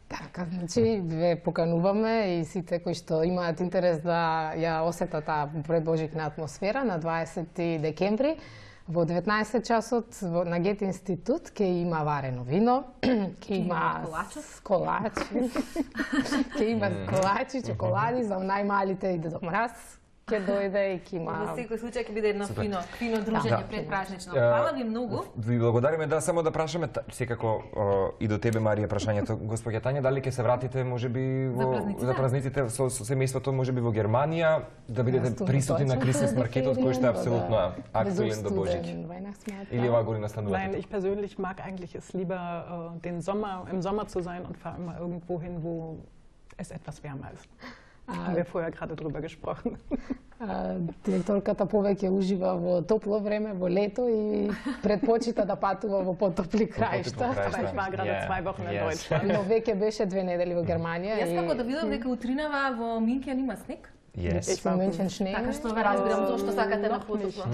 Така, значи, ве покануваме и сите кои што имаат интерес да ја осетат таа предбожикна атмосфера на дваесети декември во деветнаесет часот на Гете институт ќе има варено вино, ќе има колачи, ќе има колачи, чоколади за најмалите и Дедо Мраз. Ќе дојде и ќе има... Во секој случај ќе биде едно фино, фино дружење предпразнично. Фала ви многу. Ви благодариме, да, само да прашаме секако и до тебе, Марија, прашањето. Господја Тања, дали ќе се вратите можеби во за празниците со семејството, можеби во Германија, да бидете присутни на Крисмас маркетот, кој што е апсолутно актуелен до Божик? Или оваа година станувате? Nein, ich persönlich mag eigentlich es lieber den Sommer, im Sommer zu sein und fahre immer irgendwo hin, wo es etwas wärmer ist. Haben wir vorher gerade drüber gesprochen. Директорката повеќе ужива во топло време, во лето и предпочита да патува во потопли краишта. Ich war gerade zwei Wochen in Deutschland. Но веќе беше две недели во Германија. Јас како да видам дека утринава во Минкен има снег. Yes. Ich war München Schnee. Така што ве разбирам зошто сакате на потопло.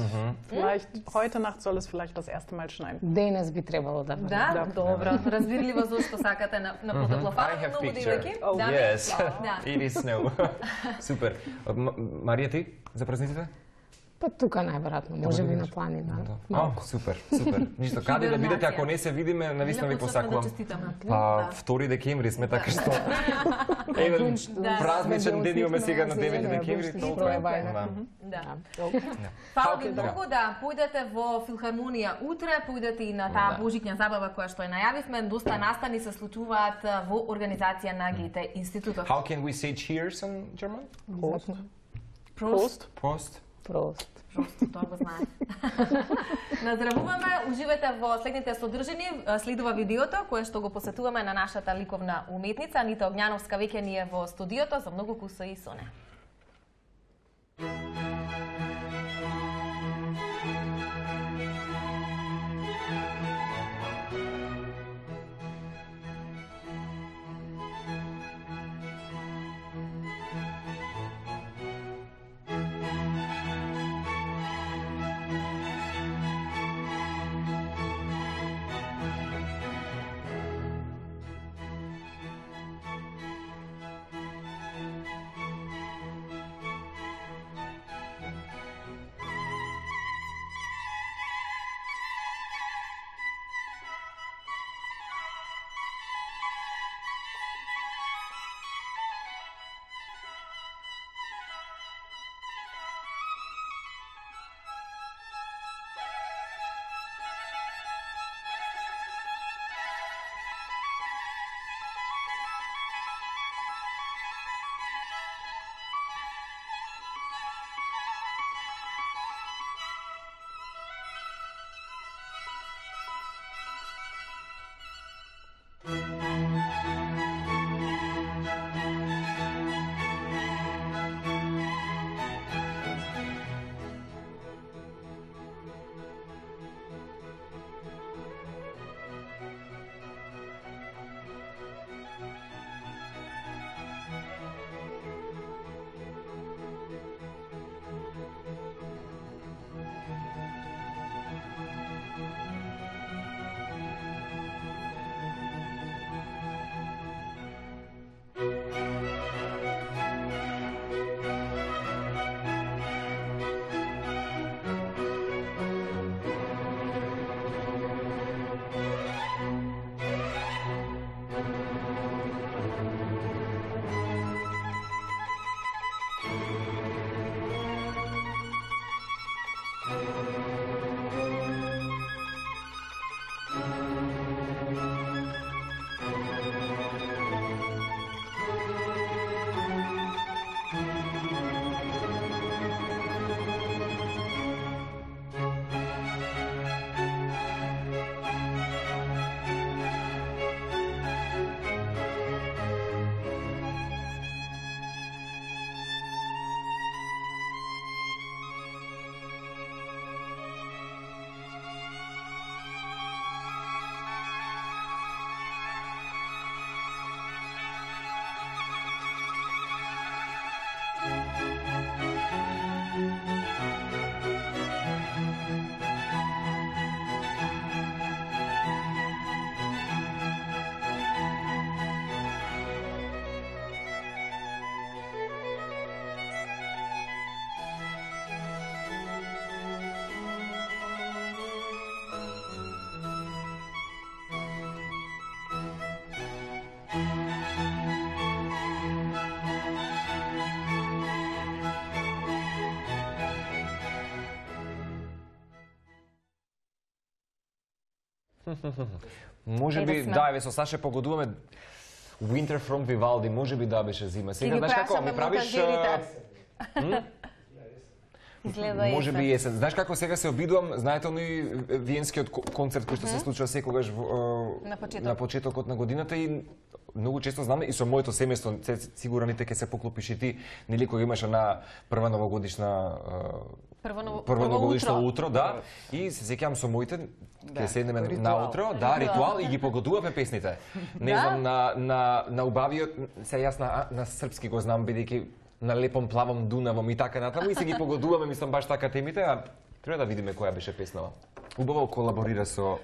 Vielleicht heute Nacht soll es vielleicht das erste Mal schneien. Денес би требало да бъде. Да, добро. Разбирливо зошто сакате на на потопло. Фала I have многу picture. девојки. Oh, yes. It is snow. Супер. Марија, ти за празниците? Па тука најверојатно, може би на планина. Малку. Супер, супер. Ништо, каде да бидете, ако не се видиме, навистина ви посакувам. Па, втори декември сме, така што... Еден празничен ден имаме сега на девети декември, толку е. Да. Фала ви многу да појдете во Филхармонија утре, појдете и на таа божиќна забава која што ја најавивме. Доста настани се случуваат во организација на Гете институтот. How can we say cheers in German? Prost. Prost. Prost. Прост. Просто тоа го знаат. Наздравуваме, уживајте во следните содржини. Следува видеото кое што го посетуваме на нашата ликовна уметница Анита Огњановска, веќе ни е во студиото за многу куса и соне. Може би, да, еве со Саше погодуваме Winter from Vivaldi, може би да беше зима. Сега знаеш како ми правиш Изгледа може би есен. Знаеш како сега се обидувам, знаете оној виенскиот концерт кој што се случува секогаш на почеток. на почетокот на годината и многу често знаме и со моето семејство, сигураните ќе се поклопиш и ти, нели кога имаш на прва новогодишна Прво, прво новогодишно утро, да, и се сеќавам со моите, ќе седнеме наутро, да, ритуал и ги погодуваме песните. Не знам на на на убавиот, се јас на на српски го знам бидејќи на лепом плавом Дунавом и така натаму и се ги погодуваме, мислам баш така темите, а треба да видиме која беше песнава. Убаво колаборира со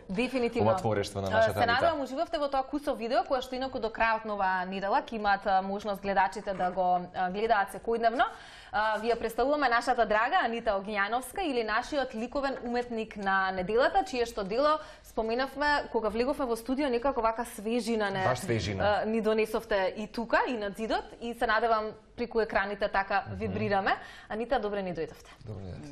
ова творештво на нашата Анита. Се надевам, уживавте во тоа кусо видео, кое што инаку до крајот на оваа недела ќе имаат можност гледачите да го гледаат секојдневно. Вие представуваме нашата драга Анита Огњановска или нашиот ликовен уметник на неделата, чие што дело споменавме кога влеговме во студио, некако вака свежина не Баш свежина. ни донесовте и тука и на зидот и се надевам преку екраните така вибрираме. Анита, добре ни дојдовте.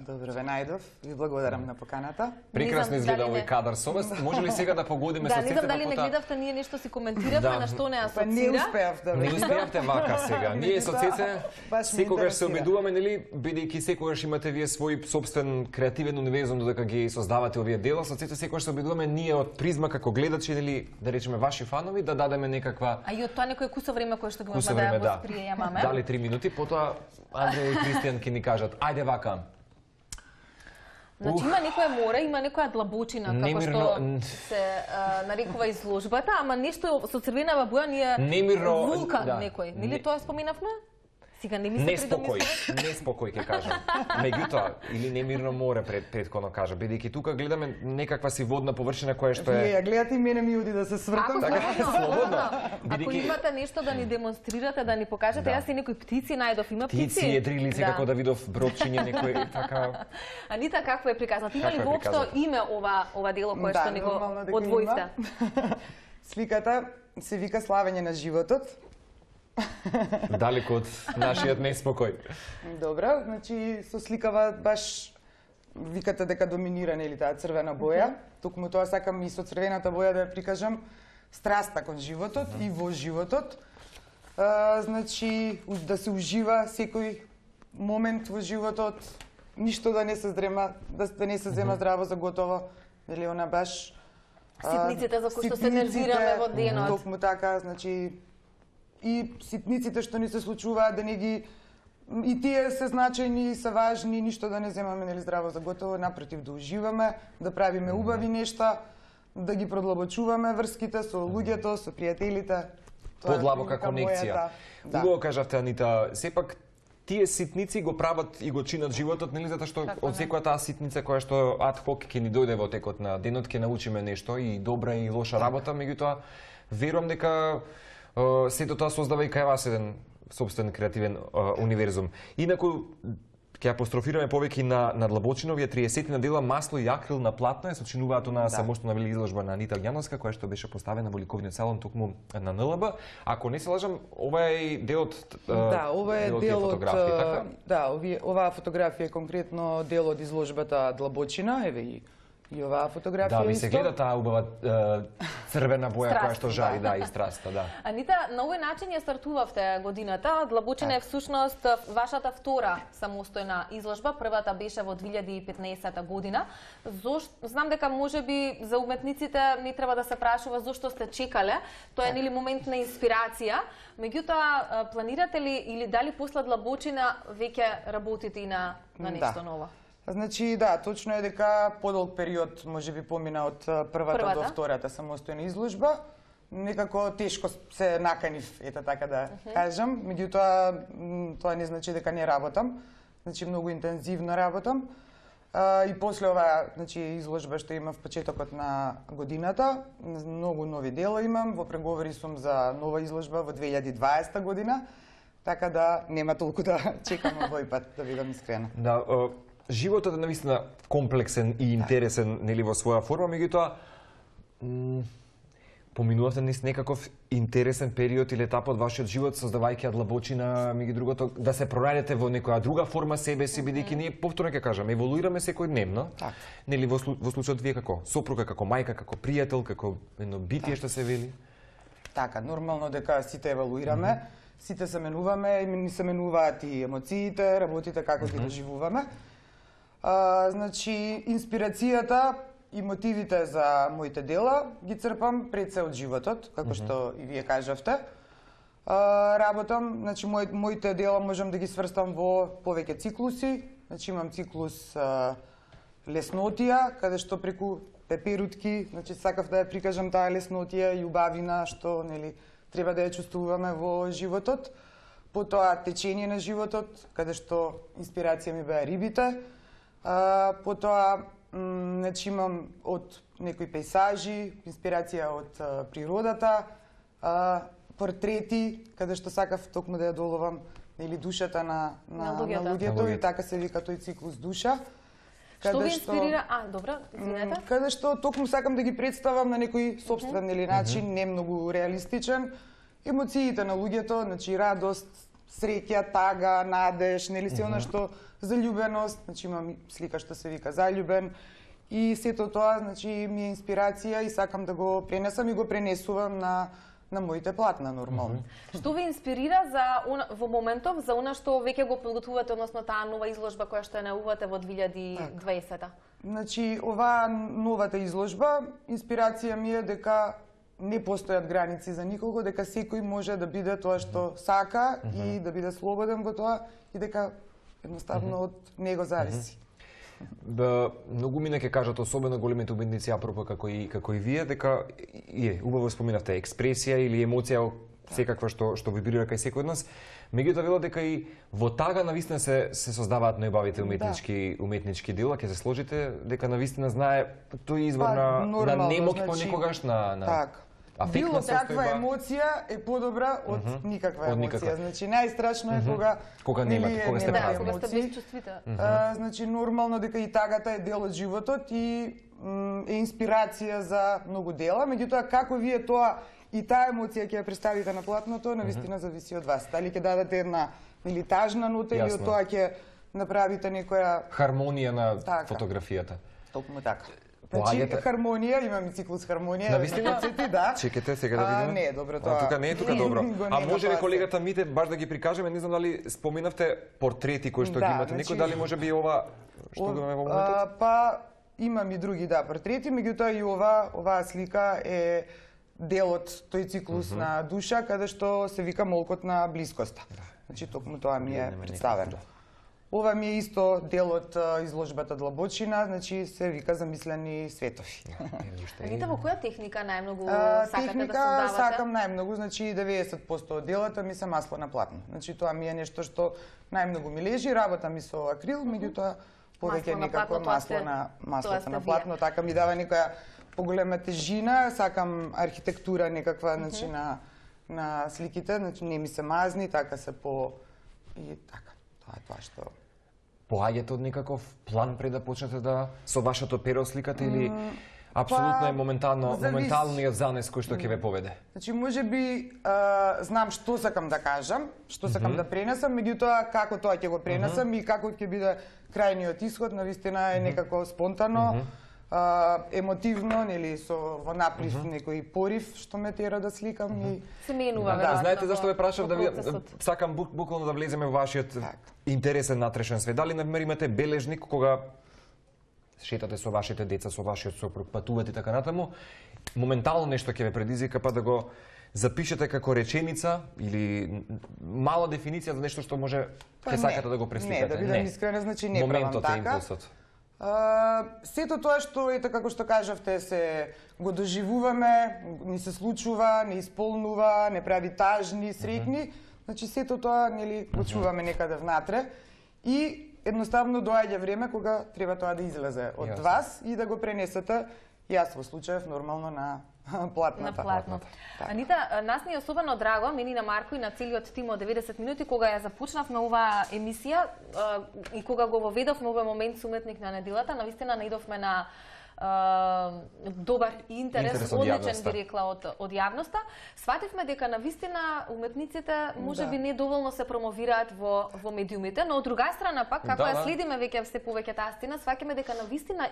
Добре ве најдов. Ви благодарам на поканата. Прекрасно изгледа овој кадар со вас. Може ли сега да погодиме со сите? Да, не знам дали не потоа... гледавте, ние нешто си коментиравме, на што не асоцира. Па не успеав да не успеавте вака сега. Ние со Цеце секогаш се обидуваме, нели, бидејќи секогаш имате вие свој собствен креативен универзум додека ги создавате овие дела, со Цеце секогаш се обидуваме ние од призма како гледачи, нели, да речеме ваши фанови, да дадеме некаква А и од тоа некој кусо време кое што го имаме да ја восприемаме. Дали три минути, потоа Андреј и Кристијан ќе ни кажат, ајде вака. Значи има некоја море, има некоја длабочина, како што се нарекува изложбата, ама нешто со црвенава боја ни е вулкан некој. Нели тоа споменавме? Сега не ми се неспокој, неспокој ќе кажам. Меѓутоа, или немирно море пред предходно кажа, бидејќи тука гледаме некаква си водна површина која што е. Вие ја гледате и мене ми уди да се свртам. Така слободно. Ако имате нешто да ни демонстрирате, да ни покажете, јас и некои птици најдов, има птици. Птици, едрилици, како да видов бродчиња некој така. Анита, како е приказнат? Има ли воопшто име ова ова дело кое што ни го одвоите? Сликата се вика Славење на животот. Далеко од нашиот неспокој. Добро, значи со сликава баш викате дека доминира нели таа црвена боја. Токму тоа сакам и со црвената боја да ја прикажам страста кон животот и во животот. А, значи да се ужива секој момент во животот, ништо да не се здрема, да, да не се зема здраво за готово. Нели она баш ситниците за кои што се нервираме во денот. Токму така, значи и ситниците што ни се случуваат да не ги и тие се значајни и се важни, ништо да не земаме нели здраво за готово, напротив да уживаме, да правиме убави нешта, да ги продлабочуваме врските со луѓето, со пријателите. Подлабока конекција. Да. Убаво кажавте, Анита, сепак тие ситници го прават и го чинат животот, нели, затоа што од секоја таа ситница која што ад хок ќе ни дојде во текот на денот, ќе научиме нешто и добра и лоша работа, меѓутоа верувам дека сето тоа создава и кај вас еден собствен креативен uh, универзум. Инаку, ќе апострофираме повеќе на, на длабочина, овие триесет на дела масло и акрил на платно е сочинуваато на да. самостојна вели изложба на Анита Огњановска, која што беше поставена во ликовниот салон токму на Н Л Б. Ако не се лажам, ова е делот uh, Да, ова е дел од така? Да, овие оваа фотографија е конкретно дел од изложбата Длабочина, еве и и оваа фотографија. Да, ви се гледа таа убава црвена боја која што жари, да, и страста, да. Анита, на овој начин ја стартувавте годината. Длабочина е всушност вашата втора самостојна изложба. Првата беше во две илјади и петнаесета година. Зошто знам дека можеби за уметниците не треба да се прашува зошто сте чекале. Тоа е нели момент на инспирација. Меѓутоа, планирате ли или дали после Длабочина веќе работите и на на нешто да. ново? Значи, да, точно е дека подолг период можеби помина од првата, првата до втората самостојна изложба. Некако тешко се наканив, ета така да uh-huh. кажам. Меѓутоа, тоа не значи дека не работам. Значи, многу интензивно работам. А, и после оваа значи, изложба што имам в почетокот на годината, многу нови дела имам. Во преговори сум за нова изложба во две илјади и дваесета година. Така да нема толку да чекам овој пат, да бидам искрена. Да, uh... животот е навистина комплексен и интересен, нели, во своја форма, меѓутоа поминувате низ некаков интересен период или етап од вашиот живот, создавајќи ја длабочина, меѓу другото, да се пронајдете во некоја друга форма себе си, бидејќи ние повторно ќе кажам, еволуираме секојдневно. Так. Нели во, во случајот вие како сопруга, како мајка, како пријател, како едно битие што се вели? Така, нормално дека сите еволуираме, mm -hmm. сите се менуваме, и ни се менуваат и емоциите, работите како ги доживуваме. А, значи, инспирацијата и мотивите за моите дела ги црпам пред се од животот, како mm -hmm. што и вие кажавте. А, работам, значи мој, моите дела можам да ги сврстам во повеќе циклуси. Значи имам циклус а, леснотија, каде што преку пеперутки, значи сакав да ја прикажам таа леснотија и убавина што нели треба да ја чувствуваме во животот. Потоа течение на животот, каде што инспирација ми беа рибите. А, потоа значи имам од некои пейсажи, инспирација од а, природата, а, портрети, каде што сакав токму да ја доловам или душата на на, на луѓето, на луѓето и така се вика тој циклус душа. Што ви инспирира? А, добро, извинете. Каде што токму сакам да ги представам на некој сопствен или начин, не многу реалистичен, емоциите на луѓето, значи радост, среќа, тага, надеж, нели се она што заљубеност, значи имам слика што се вика заљубен и сето тоа, значи ми е инспирација и сакам да го пренесам и го пренесувам на на моите платна нормално. Mm -hmm. Што ви инспирира за во моментов за она што веќе го подготвувате, односно таа нова изложба која што ја најавувате во две илјади и дваесета? Значи, оваа новата изложба, инспирација ми е дека не постојат граници за никого, дека секој може да биде тоа што сака mm -hmm. и да биде слободен во тоа и дека едноставно mm -hmm. од него зависи. Да, многу мина ќе кажат, особено големите уметници апропо како и како и вие, дека е убаво споминавте експресија или емоција секаква што што вибрира кај секој од нас. Меѓутоа велат дека и во тага навистина се се создаваат најубавите уметнички да. уметнички дела, ќе се сложите дека навистина знае тој извор па, на на немок значи, понекогаш на на так. Било каква емоција е подобра од mm -hmm. никаква емоција. Никаква. Значи најстрашно е mm -hmm. кога кога нема, кога сте да, кога сте безчувствите. Mm -hmm. Значи нормално дека и тагата е дел од животот и е инспирација за многу дела, меѓутоа како вие тоа и таа емоција ќе ја представите на платното, навистина mm -hmm. зависи од вас. Дали ќе дадете една или тажна нота или од тоа ќе направите некоја хармонија на така. Фотографијата. Токму така. Значи, хармонија, имам и циклус хармонија. Навистина? Да. Чекате сега да видиме. А, не, добро тоа. А тука не е тука добро. А може ли колегата Мите баш да ги прикажеме, не знам дали споминавте портрети кои што да, ги имате, значи, некој дали може би ова што го имаме во моментот? Па имам и други да портрети, меѓутоа и ова оваа слика е дел од тој циклус mm -hmm. на душа каде што се вика молкот на блискоста. Значи токму тоа ми е представено. Ова ми е исто дел од изложбата Длабочина, значи се вика замислени светови. Анита, во која техника најмногу сакате техника, да создавате? Техника сакам најмногу, значи деветдесет проценти од делата ми се масло на платно. Значи тоа ми е нешто што најмногу ми лежи, работа ми со акрил, меѓутоа повеќе некако масло на маслото на платно, така ми дава некоја поголема тежина, сакам архитектура некаква, значи на на сликите, значи не ми се мазни, така се по и така. Тоа е тоа што поаѓате од некаков план пред да почнете да со вашето перо сликате или апсолутно па, е моментално завис... моменталниот занес кој што ќе ве поведе? Значи можеби а, знам што сакам да кажам, што сакам mm -hmm. да пренесам, меѓутоа како тоа ќе го пренесам mm -hmm. и како ќе биде крајниот исход, навистина е некако спонтано. Mm -hmm. Uh, емотивно, нели, со во наплив mm -hmm. некој порив што ме тера да сликам mm -hmm. и се менува. Да, знаете зашто ве прашав да ви сакам бук, буквално да влеземе во вашиот так. интересен натрешен свет. Дали например имате бележник кога шетате со вашите деца, со вашиот сопруг, патувате и така натаму, моментално нешто ќе ве предизвика па да го запишете како реченица или мала дефиниција за нешто што може ќе сакате да го пресликате. Не, да бидам искрена, значи не моментот правам е така. импулсот. Uh, сето тоа што ете како што кажавте се го доживуваме, ни се случува, не исполнува, не прави тажни, среќни, uh -huh. значи сето тоа нели го чуваме некаде внатре и едноставно доаѓа време кога треба тоа да излезе од yes. вас и да го пренесете. Јас во случајов нормално на платната. На платната. Анита, нас ни е особено драго, мени на Марко и на целиот тим од деветдесет минути, кога ја започнавме оваа емисија и кога го воведовме овој момент со уметник на неделата, навистина наидовме на добар интерес, интерес од одличен јавноста. би рекла од од јавноста. Свативме дека навистина уметниците можеби Да. не доволно се промовираат во во медиумите, но од друга страна пак како Да, ја да. следиме веќе се повеќе таа стена, сваќаме дека навистина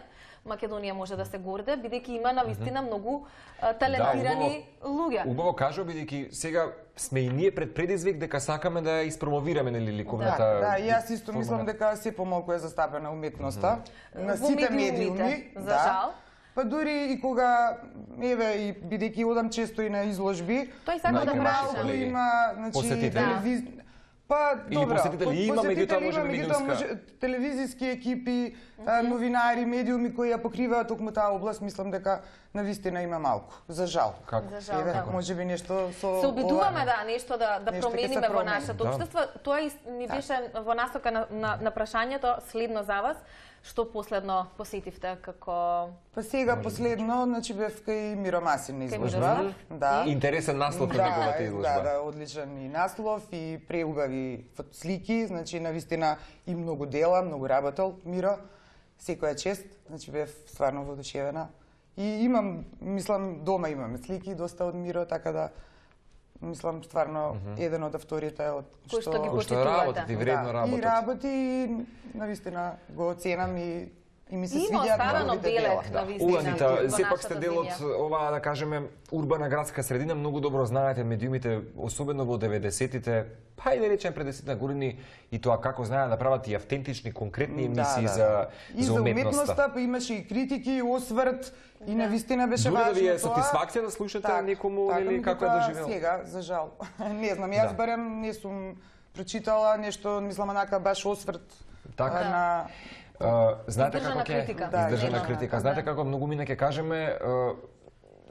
Македонија може да се горде, бидејќи има навистина многу а, талентирани луѓе. Убаво кажа, бидејќи сега сме и ние пред предизвик дека сакаме да ја испромовираме нели Да, ликовната. да, и јас исто мислам дека се помалку е застапена уметноста на Во сите медиумите, медиуми, за да. жал. Па дури и кога еве и бидејќи одам често и на изложби, Тој сака да многу праша. малку има, значи Посетители. телевиз... Па Или добра, посетители има, посетители меѓутоа може има, би меѓутоа медиумска. може телевизиски екипи, а, новинари, медиуми кои ја покриваат токму таа област, мислам дека навистина има малку, за жал. Како? За жал, Еве, да. можеби нешто со Се обидуваме ова- да нешто да да Нешто ќе се промениме во промени. нашето Да. општество. Тоа и ни беше во насока на, на, на прашањето следно за вас. Што последно посетивте како Па сега последно, значи бев кај Миро Масин на Кај изложба. Мирослав? Да. Интересен наслов на неговата Да, изложба. да, одличен и наслов и преубави фот- слики, значи навистина и многу дела, многу работел Миро. Секоја чест, значи бев стварно воодушевена. И имам, мислам, дома имаме слики доста од Миро, така да мислам стварно еден од авторите од Кој што ги Кој што работите, и вредно да, и работат. работи и навистина го оценам и и ми се Има свиѓаат оставено неговите дела. белег на вистина. Уанита, во сепак нашата сте дел од земја. оваа, да кажеме, урбана градска средина, многу добро знаете медиумите, особено во деветдесетите, па и да речем пред десет години, и тоа како знаат да прават и автентични, конкретни емисии за И за за уметноста. уметноста, па имаше и критики, и осврт, и навистина беше Дури да важно ви е тоа. сатисфакција да слушате Так, некому така, или како е меѓутоа, доживел? Сега, за жал. Не знам, јас Да. барем не сум прочитала нешто, мислам, онака баш осврт Така. а, на... Uh, знаете Издржана како ќе критика. Да, издржана да, критика. да. Знаете како многу мина ќе кажеме, uh,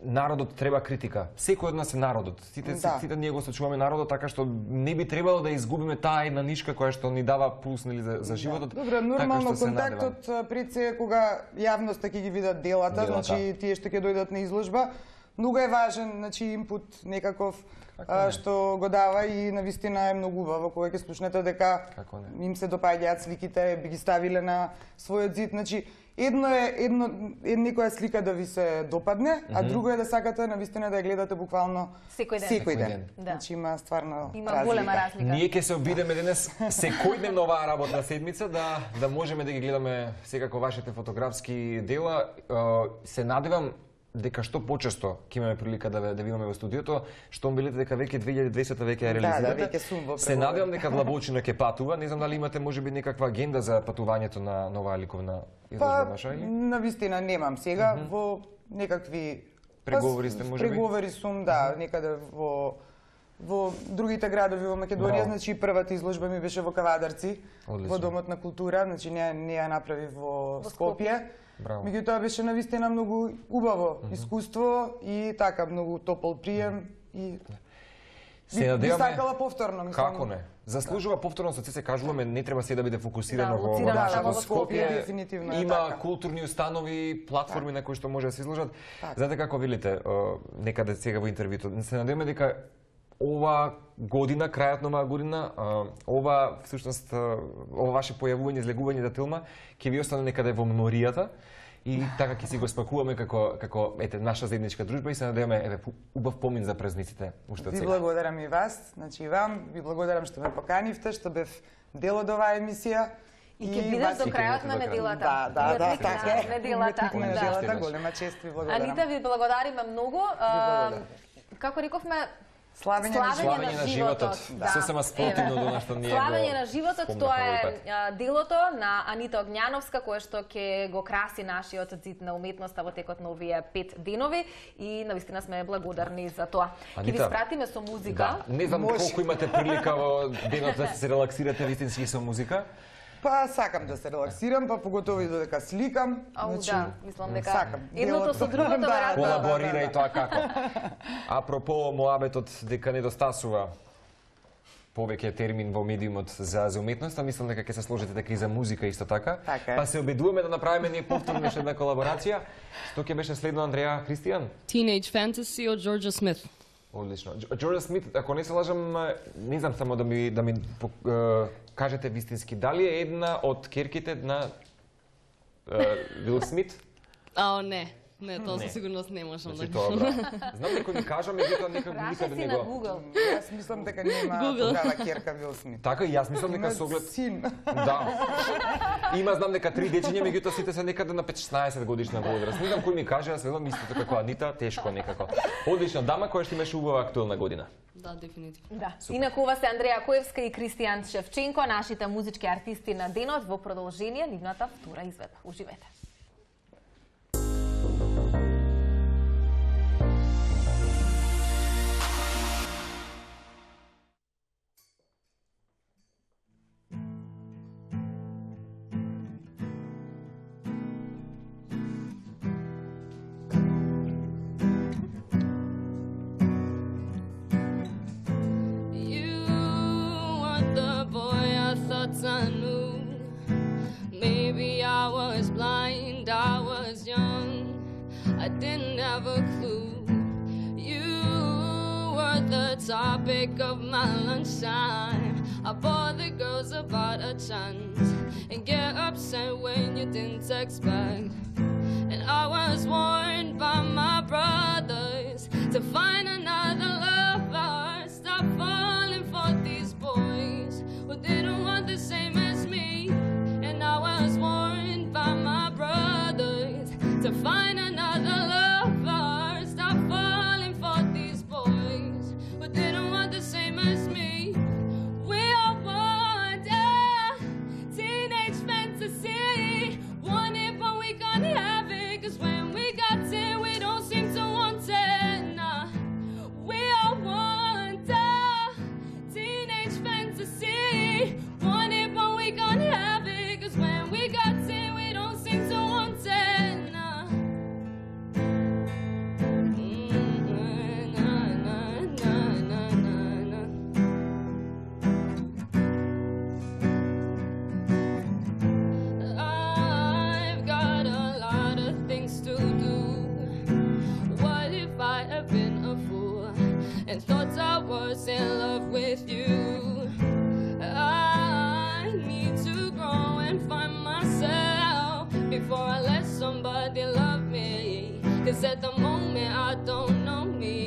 народот треба критика. Секој од нас е народот. Сите Да. сите ние го сочуваме народот, така што не би требало да изгубиме таа една нишка која што ни дава пулс нели за, за животот. Добро, нормално така што се контактот а, пред се кога јавноста ќе ги видат делата, Делата. значи тие што ќе дојдат на изложба, многу е важен, значи импут некаков а, што го дава и навистина е многу убаво кога ќе слушнете дека Како не? им се допаѓаат сликите, би ги ставиле на својот зид, значи едно е едно е некоја слика да ви се допадне, а друго е да сакате навистина да ја гледате буквално Секој ден. Секој Секој ден. ден. Да. Значи има стварно Има разлика. голема разлика. Ние ќе се обидеме денес секојдневно оваа работна седмица да да можеме да ги гледаме секако вашите фотографски дела. Е, Се надевам дека што почесто ќе имаме прилика да ве да ви имаме во студиото, што билете дека веќе две илјади и дваесета веќе ја Да, да, реализирате. веќе сум во Се преговори. надевам дека Влабовчина ќе патува. Не знам дали имате можеби некаква агенда за патувањето на на оваа ликовна изложба Па, ваша или? навистина немам сега, во некакви... Преговори сте, Па, можеби? Преговори сум, да, некаде во во другите градови во Македонија, Браво. значи првата изложба ми беше во Кавадарци, Одлично. во Домот на култура, значи не, не ја направи во, Скопје. Браво. Меѓутоа беше навистина многу убаво искуство и така многу топол прием и Се би, би надеваме сакала повторно, мислам. Како не? Заслужува повторно, со се кажуваме, не треба се да биде фокусирано Да, во лоцирано во нашето само во Скопје, Скопје. дефинитивно е Има така. културни установи, платформи на кои што може да се изложат. Така. Знаете како видите, е, некаде сега во интервјуто, се надеваме дека ова година, крајот на оваа година, е, ова всушност е, ова ваше појавување, излегување за Тилма ќе ви остане некаде во меморијата. И така ќе си го спакуваме како како ете наша заедничка дружба и се надеваме еве убав помин за празниците уште од Ви сега. благодарам и вас, значи и вам, ви благодарам што ме поканивте, што бев дел од оваа емисија. И ќе бидеш вас- до и ќе крајот бидете на до крај. неделата. Да, да, да, Уметник така на е. неделата. Уметник на Да. неделата, Още голема чест ви благодарам. Анита, ви благодариме многу. А, благодарам. Како рековме, Славење на Славење на животот. Да. Сосема спротивно Еве. до нашто ние Славење го на животот, спомнавме тоа овој е пат. а, делото на Анита Огњановска, кое што ќе го краси нашиот зид на уметноста во текот на овие пет денови и навистина сме благодарни за тоа. Ќе ви Анита, спратиме со музика. Да, не знам Може. колку имате прилика во денот да се релаксирате вистински со музика. Па сакам да се релаксирам, па поготово и додека сликам. Ау, да, мислам дека сакам. едното Делото- со другото Да, веројатно. да, да. Колаборира и тоа како. Апропо моабетот дека недостасува повеќе термин во медиумот за за уметноста, мислам дека ќе се сложите така и за музика исто така. Така е. Па се обидуваме да направиме ние повторно уште една колаборација. Што ќе беше следно, Андреја Христијан? Teenage Fantasy од Джорџа Смит. Одлично. Дж- Джордж Смит, ако не се лажам, не знам само да ми да ми пок- е, кажете вистински, дали е една од керките на е, Вил Смит? Ао, не. Не, тоа со сигурност не можам да кажам. Тоа, знам некој ми кажа, меѓутоа никаде никаде не го. Google. Јас мислам дека нема тогава ќерка Вил Смит. Така и јас мислам дека со оглед син. Да. Има знам дека три дечиња, меѓутоа сите се некаде на петнаесет годишна возраст. Не знам кој ми каже, јас велам истото како Анита, тешко некако. Одлична дама која што имаше убава актуелна година. Да, дефинитивно. Да. Инаку ова се Андреја Коевска и Кристијан Шевченко, нашите музички артисти на денот во продолжение нивната втора изведба. Уживете. I knew. Maybe I was blind, I was young, I didn't have a clue. You were the topic of my lunchtime. I bore the girls about a chance and get upset when you didn't text back. And I was warned by my brothers to find another lover. Stop falling for these boys who didn't want the same as me. And I was warned by my brothers to find another lover. Stop falling for these boys who didn't want the same as me. We all want a teenage fantasy, want it but we can't have it, 'cause when we got it we don't seem to want it. Nah. We all want a teenage fantasy, want it but we can't have it, 'cause when we got it we don't seem to want it. Nah. Mm, nah, nah, nah, nah, nah, nah. I've got a lot of things to do. What if I have been a fool and thought I was in love with you? I need to grow and find myself before I let somebody love me, 'cause at the moment I don't know me.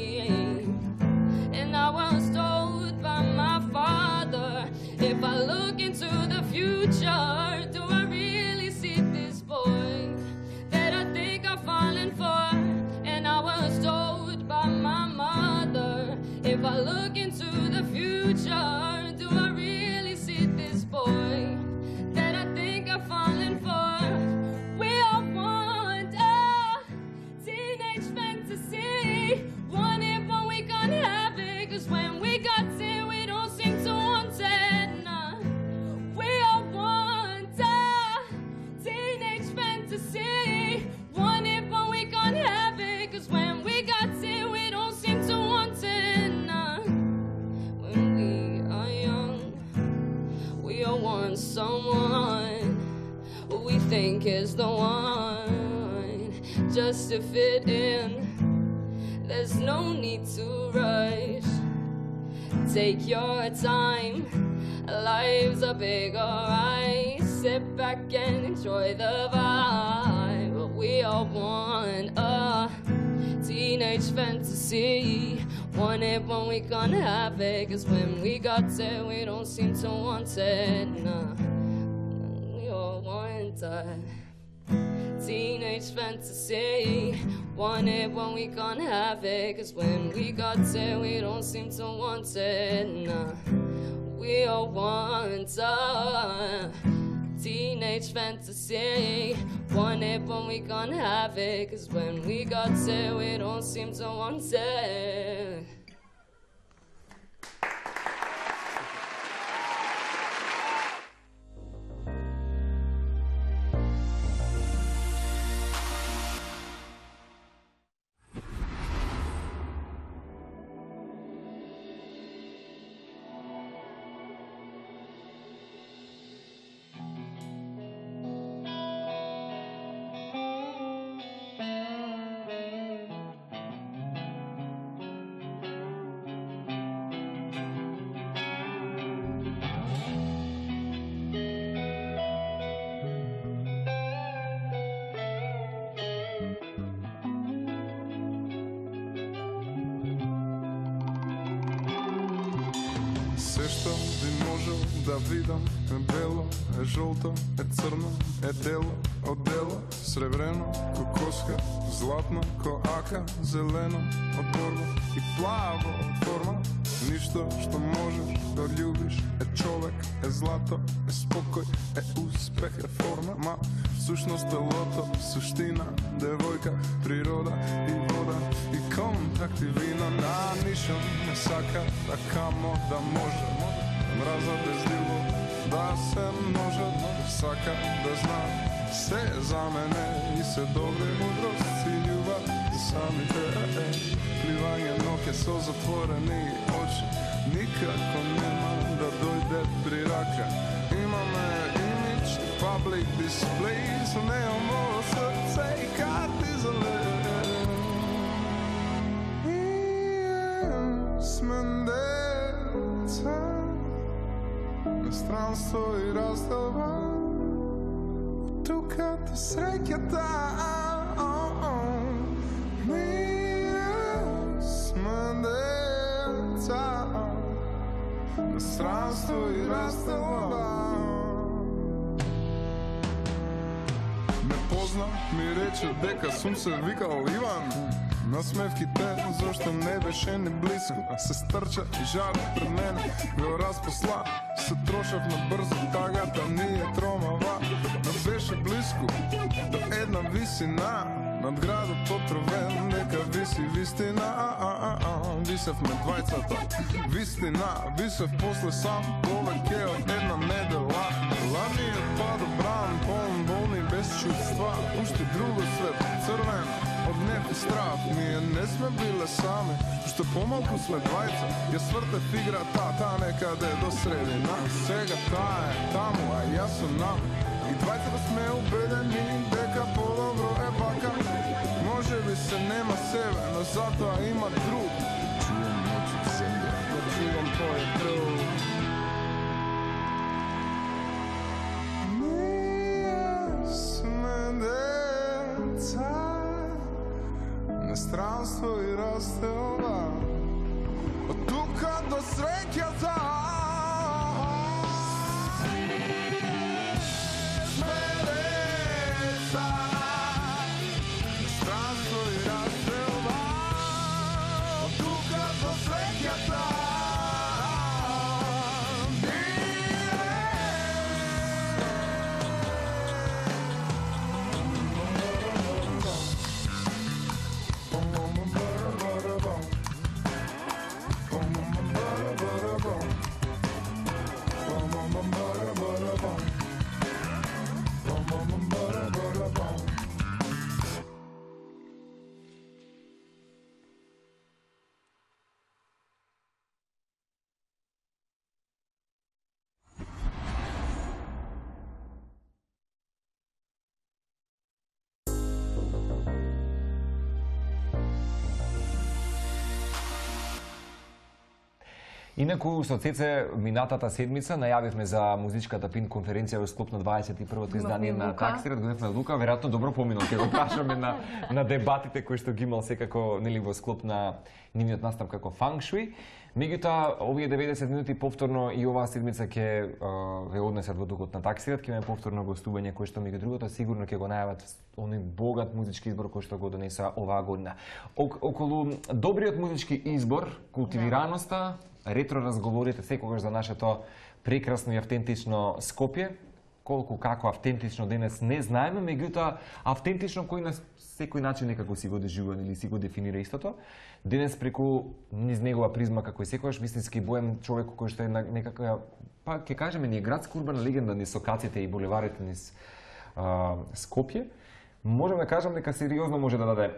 And I was told by my father, if I look into the future, do I really see this boy that I think I've fallen for? And I was told by my mother, if I look into the future, do I really see this boy that I think I've fallen for? We all want a teenage fantasy, want it but we can't have it, 'cause when we got it we don't seem to want it. Nah. We all want a teenage fantasy, want it but we can't have it, 'cause when we got it we don't seem to want it. Nah. When we are young, we all want someone who we think is the one, just to fit in. There's no need to rush. Take your time. Life's a big alright. Sit back and enjoy the vibe. We all want a teenage fantasy, want it when we can't have it, 'cause when we got it we don't seem to want it. Nah. We all want a teenage fantasy, want it when we can't have it, 'cause when we got it we don't seem to want it. Nah. We all want a teenage fantasy, want it when we can't have it, 'cause when we got it we don't seem to want it. Се што би можел да видам е бело, е жолто, е црно, е дело, од дело, сребрено, ко коска, златно, ко ака, зелено, од борба и плаво од форма. Ништо што можеш да љубиш е човек, е злато, е спокој, е успех, е форма. Ма всушност е лото, суштина, девојка, природа и вода и контакт и вина. На ништо не сака да камо да може мраза без љубов да се множат. Сака да знам се за мене и се добре мудрост и љубов за самите е. Пливање ноќе со затворени очи никако нема да дојде при рака. Имаме имидж, public displays, немамо срце и карти за лед. И сме деца на странство и раздава тука до среќата. На странство и растава. Не позна, ми рече дека сум се викал Иван. Насмевките, зашто не беше ни близко. Се стрча и жар пред мене, го разпосла. Се трошав на брзо тагата, ние тромава. Не беше близко до една висина. Над градот отровен, нека виси вистина. Висевме двајцата, вистина. Висев после сам, повеќе од една недела. Ладниот падобран, полн болни без чувства. Уште друго свет, црвен, од неф и страв. Ние не сме биле сами, уште помалку сме двајца. Ја свртев играта, та некаде до средина. Сега таа е таму, а јас сум нам. И двајцата сме убедени дека подобро е вака. Може би се нема себе, но затоа има друг. Чувам ноќ од земја, но чувам тој друг. Ние сме деца на странство и растелба. Од тука до среќата. Инаку со Цеце минатата седмица најавивме за музичката пин конференција во склоп на дваесет и првото издание на Таксират, гоневме Лука, веројатно добро поминал, ќе го прашаме на на дебатите кои што ги имал секако нели во склоп на нивниот настап како фанк шуи. Меѓутоа, овие деветдесет минути повторно и оваа седмица ќе ве однесат во духот на Таксират, ќе имаме повторно гостување кој што меѓу другото сигурно ќе го најават оној богат музички избор кој што го донеса оваа година. Околу добриот музички избор, култивираноста, ретро разговорите секогаш за нашето прекрасно и автентично Скопје, колку како автентично денес не знаеме, меѓутоа автентично кој на секој начин некако си го доживува или си го дефинира истото. Денес преку низ негова призма како и секогаш вистински боем човек кој што е некака, па ќе кажеме ни градска урбана легенда низ сокаците и булеварите низ а, Скопје, можеме да кажам дека сериозно може да даде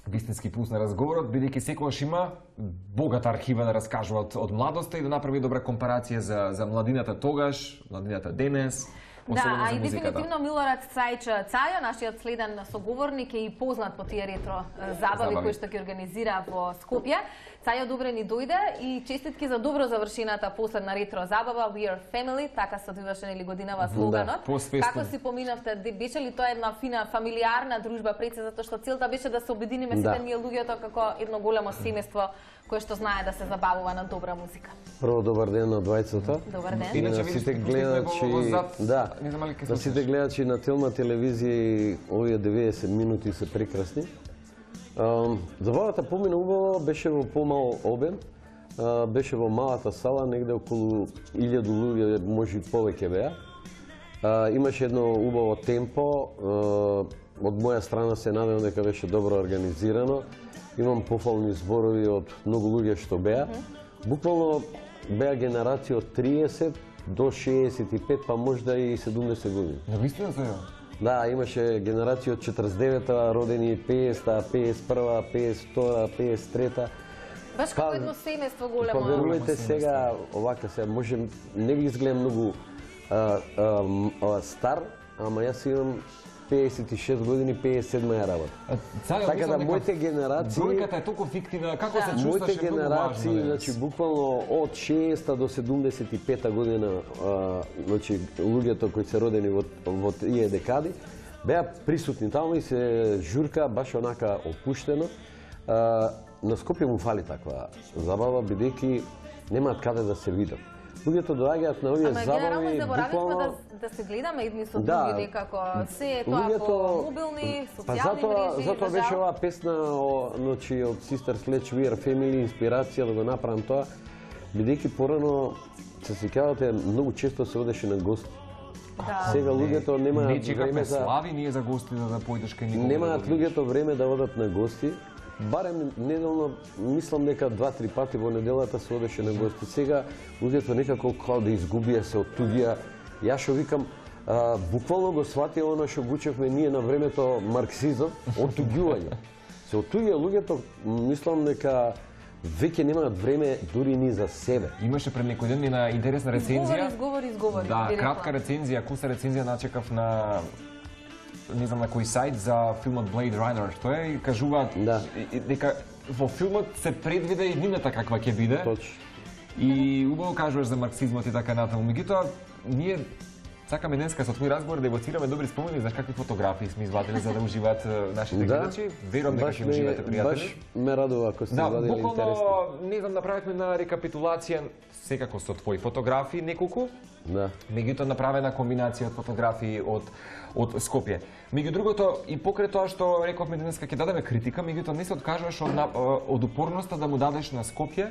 вистински пулс на разговорот, бидејќи секогаш има богата архива да раскажува од, од младоста и да направи добра компарација за, за младината тогаш, младината денес, Да, а и дефинитивно Милорад Цајч Цајо, нашиот следен соговорник, е и познат по тие ретро забави кои што ги организира во Скопје. Цајо, добре ни дојде и честитки за добро завршената последна ретро забава We Are Family, така се одвиваше нели годинава слоганот. Да, како си поминавте? Беше ли тоа една фина фамилиарна дружба пред се, затоа што целта беше да се обединиме сите да. ние луѓето како едно големо семејство кое што знае да се забавува на добра музика. Прво добар ден на двајцата. Добар ден. И на сите гледачи, да, на сите гледачи на Телма телевизија, овие деветдесет минути се прекрасни. Забавата помина убаво, беше во помал обем, беше во малата сала, негде околу илјаду луѓе, може и повеќе беа. Имаше едно убаво темпо, од моја страна се надевам дека беше добро организирано. Имам пофални зборови од многу луѓе што беа. Буквално беа генерација од триесет до шеесет и пет, па можда и седумдесет години. Навистина се? Да, имаше генерација од четридесет и девета родени, пеесета, пеесет и прва, пеесет и втора, пеесет и трета. Баш како едно семејство големо. Па верувате сега, овака се, може не ги изгледам многу а, а, а, стар, ама јас имам пеесет и шест години, пеесет и седма ја работа. Така да моите генерации... Бројката е толку фиктивна, како се чувстваше моите генерации, значи буквално од шеесета до седумдесет и пета година, а, значи луѓето кои се родени во, во тие декади, беа присутни таму и се журка баш онака опуштено. А, на Скопје му фали таква забава, бидејќи немаат каде да се видат. Луѓето доаѓаат на овие забави, генерално заборавивме буквално... да, да се гледаме едни со да, други, некако се е тоа луѓето... по мобилни, социјални па затоа, мрежи. Затоа беше оваа песна о, значи, од Sister Sledge We Are Family, инспирација да го направам тоа, бидејќи порано, се сеќавате, многу често се одеше на гости. Да. Сега луѓето немаат не време за... слави ние за гости да, да појдеш кај никога. Немаат луѓето време да одат на гости. Барем неделно, мислам дека два-три пати во неделата се одеше на гости. Сега луѓето некако као да изгубија, се оттуѓија. Јас што викам, а, буквално го свати оно што гучевме ние на времето марксизам, оттуѓување. Се оттуѓа луѓето, мислам дека веќе немаат време дури ни за себе. Имаше пред некој ден една интересна рецензија. Изговори, изговори, изговори. Да, кратка рецензија, куса рецензија начекав на не знам на кој сајт за филмот Blade Runner, што е и кажуваат да. дека во филмот се предвиде и иднината каква ќе биде. Точно. И убаво кажуваш за марксизмот и така натаму. Меѓутоа, ние сакаме денеска со твој разговор да евоцираме добри спомени, знаеш какви фотографии сме извадили за да уживаат нашите гледачи. Верувам дека ќе уживате, пријатели. Баш ме радува ако сте да, извадили интересни. Да, буквално, не знам, направивме на рекапитулација секако со твои фотографии неколку. Да. Меѓутоа направена комбинација од фотографии од од Скопје. Меѓу другото, и покрај тоа што рековме денеска ќе дадеме критика, меѓутоа не се откажуваш од, од упорноста да му дадеш на Скопје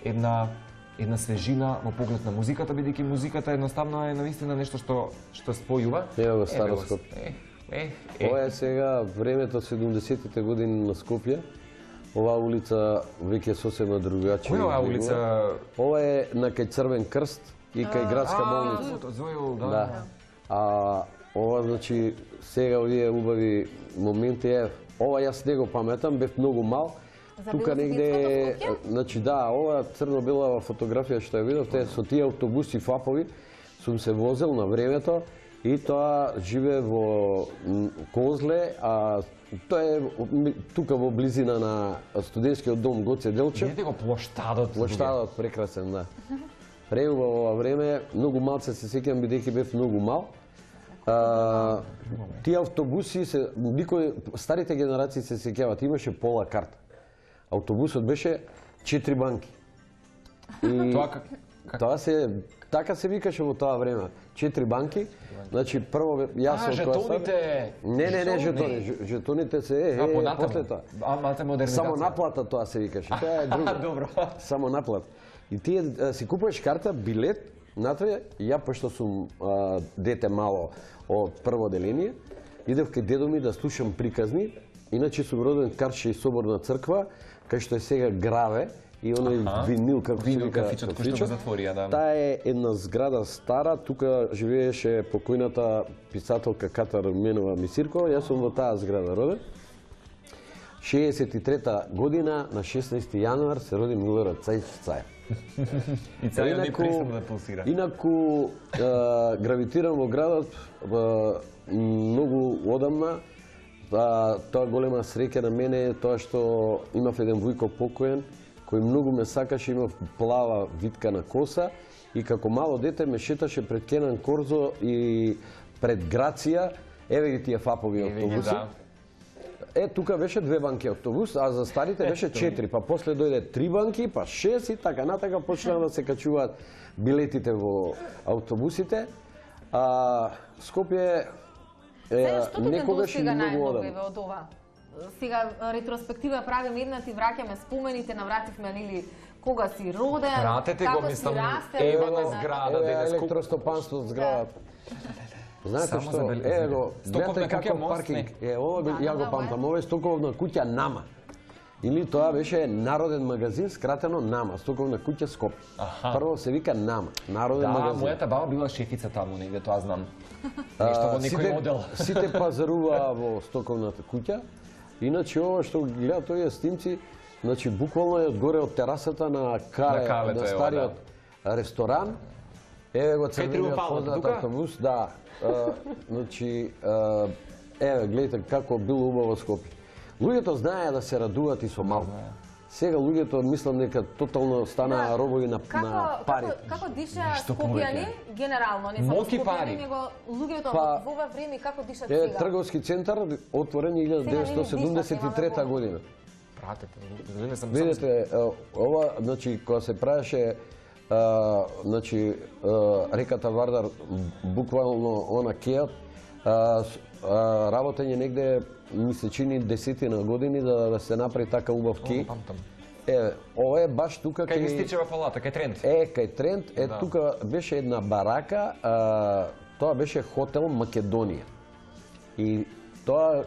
една една свежина во поглед на музиката, бидејќи музиката едноставно е навистина нешто што што спојува. Ево го старо Скопје. Е, е, Ова е сега времето седумдесетите години на Скопје. Оваа улица веќе сосема другачи. Која оваа улица? Ова е на кај Црвен крст и кај градска болница. Да. Да. А ова значи сега овие убави моменти е, ова јас не го паметам, бев многу мал. Тука негде, значи да, ова црно-бела фотографија што ја видов, те со тие автобуси фапови сум се возел на времето и тоа живе во Козле, а тоа е тука во близина на студентскиот дом Гоце Делчев. Видите го плоштадот. Плоштадот прекрасен, да. Преубаво ова време, многу малце се сеќавам бидејќи бев многу мал. А, тие автобуси се никој старите генерации се сеќаваат, имаше пола карта. Автобусот беше четири банки. И тоа как, как... тоа се така се викаше во тоа време. Четири банки. Значи прво јас а, жетоните. Не, не, не, жетони, жетоните се е, е после тоа. А, малте модернизација. Само наплата тоа се викаше. Тоа е друго. Добро. Само наплата. И ти си купуваш карта, билет, натре, ја пошто сум а, дете мало од прво деление, идев кај дедо ми да слушам приказни, иначе сум роден Карши соборна црква, кај што е сега Граве, и оној винил, како се вика, кафичот, кој што го затворија, да. Таа е една зграда стара, тука живееше покојната писателка Ката Руменова Мисиркова, јас сум во таа зграда роден. шеесет и трета година на шеснаесети јануар се роди Милорад Цајч Цаев. И Цаев не престана да пулсира. Инаку гравитирам во градот многу одамна. Тоа голема среќа на мене е тоа што имав еден Вујко покоен кој многу ме сакаше, имав плава виткана коса и како мало дете ме шеташе пред Кенан Корзо и пред Грација, еве ги тие фапови автобуси. Е, тука беше две банки автобус, а за старите беше четири, па после дојде три банки, па шест и така натака почнаа да се качуваат билетите во автобусите. А Скопје е некогаш и многу одам. Сега ретроспектива правиме една, ти враќаме спомените, навративме нели кога си роден, Пратете го, како си мислам, расте. ева на зграда, еве електростопанство од зградата. Знаете што, еве го, гледате каков паркинг. Е, ова ја го памтам, ова е стоковна куќа Нама. Или тоа беше Народен магазин, скратено Нама, стоковна куќа Скопје. Прво се вика Нама, Народен магазин. Да, мојата баба била шефица таму негде, тоа знам. Нешто во некој модел. Сите пазаруваа во стоковната куќа. Иначе ова што гледа тој снимци, значи буквално е одгоре од терасата на Кале, на стариот ресторан. Еве го црвениот познат автобус, да. Значи, еве, гледате како било убаво Скопје. Луѓето знаеа да се радуваат и со малку. Сега луѓето мислам дека тотално станаа робови на пари. Како диша Скопјани генерално, не само Скопјани, него луѓето во ова време како дишат сега? Е трговски центар отворен илјада деветстотини седумдесет и трета година. Пратете, не сам. Видете, ова, значи кога се правеше значи реката Вардар буквално она кејот, работење негде ми се чини десетина години да, да се направи така убав кеј. Е, ова е баш тука кај Мистичева палата, кај Трент. Е, кај Трент, е да. Тука беше една барака, а, тоа беше хотел Македонија. И тоа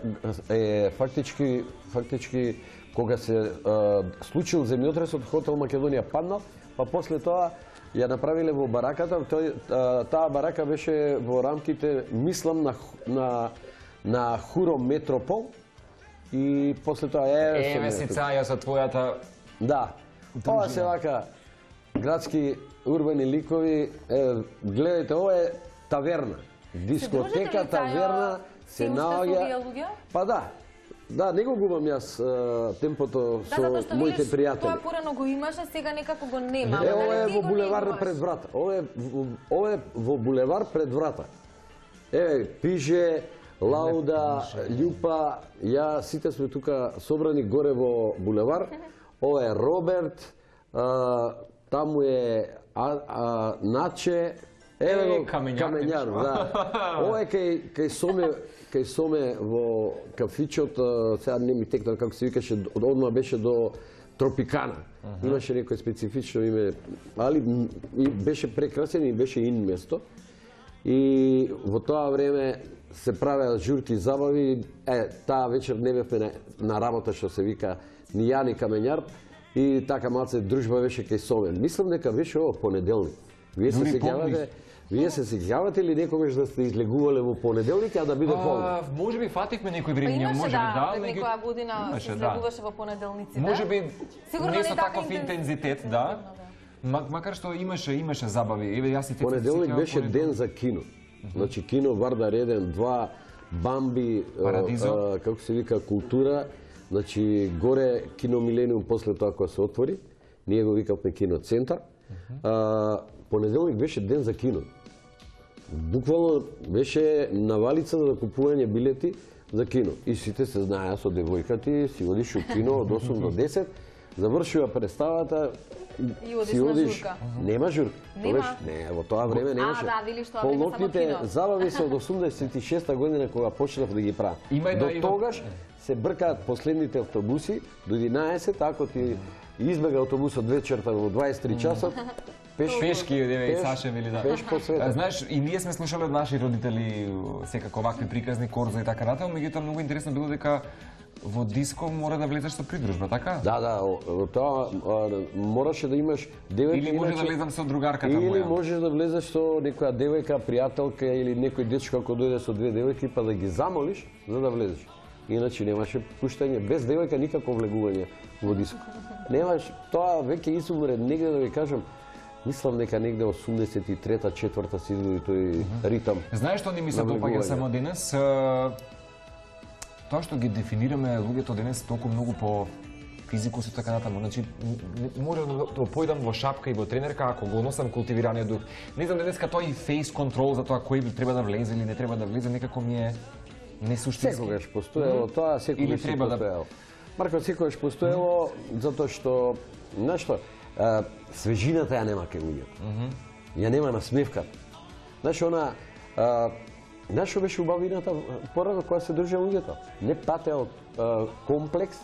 е фактички фактички кога се а, случил земјотресот, хотел Македонија паднал, па после тоа ја направиле во бараката. Тој, а, таа барака беше во рамките, мислам, на на на Хуро Метропол и после тоа е еве си Цаја со твојата. Да. Ова се вака градски урбани ликови, е, гледајте, ова е таверна. Дискотека, таверна, се наоѓа. Па да. Да, не го губам јас темпото со моите пријатели. Тоа порано го имаше, сега некако го нема. Е, ова е во булевар пред врата. Ова е ова е во булевар пред врата. Еве, пише Лауда, Љупа, ја сите сме тука собрани горе во булевар. Ова е Роберт, а, таму е а, а, Наче, еве го Камењар, да. Ова е кај кај Соме, кај Соме во кафичот, сега не ми текна како се викаше, одма беше до Тропикана. Uh -huh. Имаше некој специфично име, али беше прекрасен и беше ин место. И во тоа време се правеа журки забави. Е, таа вечер не бевме на, на работа, што се вика ни ја ни Камењар, и така малце дружба беше кај Сомен. Мислам дека беше ово понеделник. Вие се сеќавате, вие се сеќавате ли некогаш да сте излегувале во понеделник, а да биде полнок? Може би фативме некој време, може би да, некоја година се излегуваше во понеделниците. Може би не со таков интензитет, да. Макар што имаше имаше забави. Еве јас и понеделник беше ден за кино. Значи кино Вардар еден, два, Бамби, како се вика, култура. Значи горе кино Милениум после тоа кога се отвори, ние го викавме кино центар. Понеделник беше ден за кино. Буквално беше навалица за купување билети за кино. И сите се знаеа со девојката, си одиш у кино од осум до десет, завршува представата, си одиш, нема журка. Нема? Не, во тоа време немаше. А, да, вели што полнокните забави се од осумдесет и шеста година кога почнав да ги правам. До тогаш се бркаат последните автобуси до единаесет, ако ти избега автобусот вечерта во дваесет и три часот, Пеш, пешки, и Саше мили да. Пеш по света. Знаеш, и ние сме слушале од наши родители секако вакви приказни, Корзо и така натаму, меѓутоа многу интересно било дека во диско мора да влезеш со придружба, така? Да, да, тоа мораше да имаш девојка. Или може да влезам со другарката моја. Или можеш да влезеш со некоја девојка, пријателка или некој дечко ако дојде со две девојки, па да ги замолиш за да влезеш. иначе немаше пуштање, без девојка никако влегување во диско. Немаш, тоа веќе изумре негде, да ви кажам, мислам дека негде осумдесет и трета, четврта се изгоди тој ритам. Знаеш што ни ми се допаѓа само денес? Тоа што ги дефинираме луѓето денес толку многу по физикус и така натаму. Значи, може да појдам во шапка и во тренерка ако го носам култивираниот дух. Не знам денеска тој фейс контрол за тоа кој треба да влезе или не треба да влезе, некако ми е несуштински. Секогаш постоело, тоа секогаш треба постоело. Марко, секогаш постоело затоа што, знаеш што, свежината ја нема кај луѓето. Ја нема насмевката. Знаеш, она, знаеш што беше убавината порано кога се држа луѓето? Не патеа од комплекс,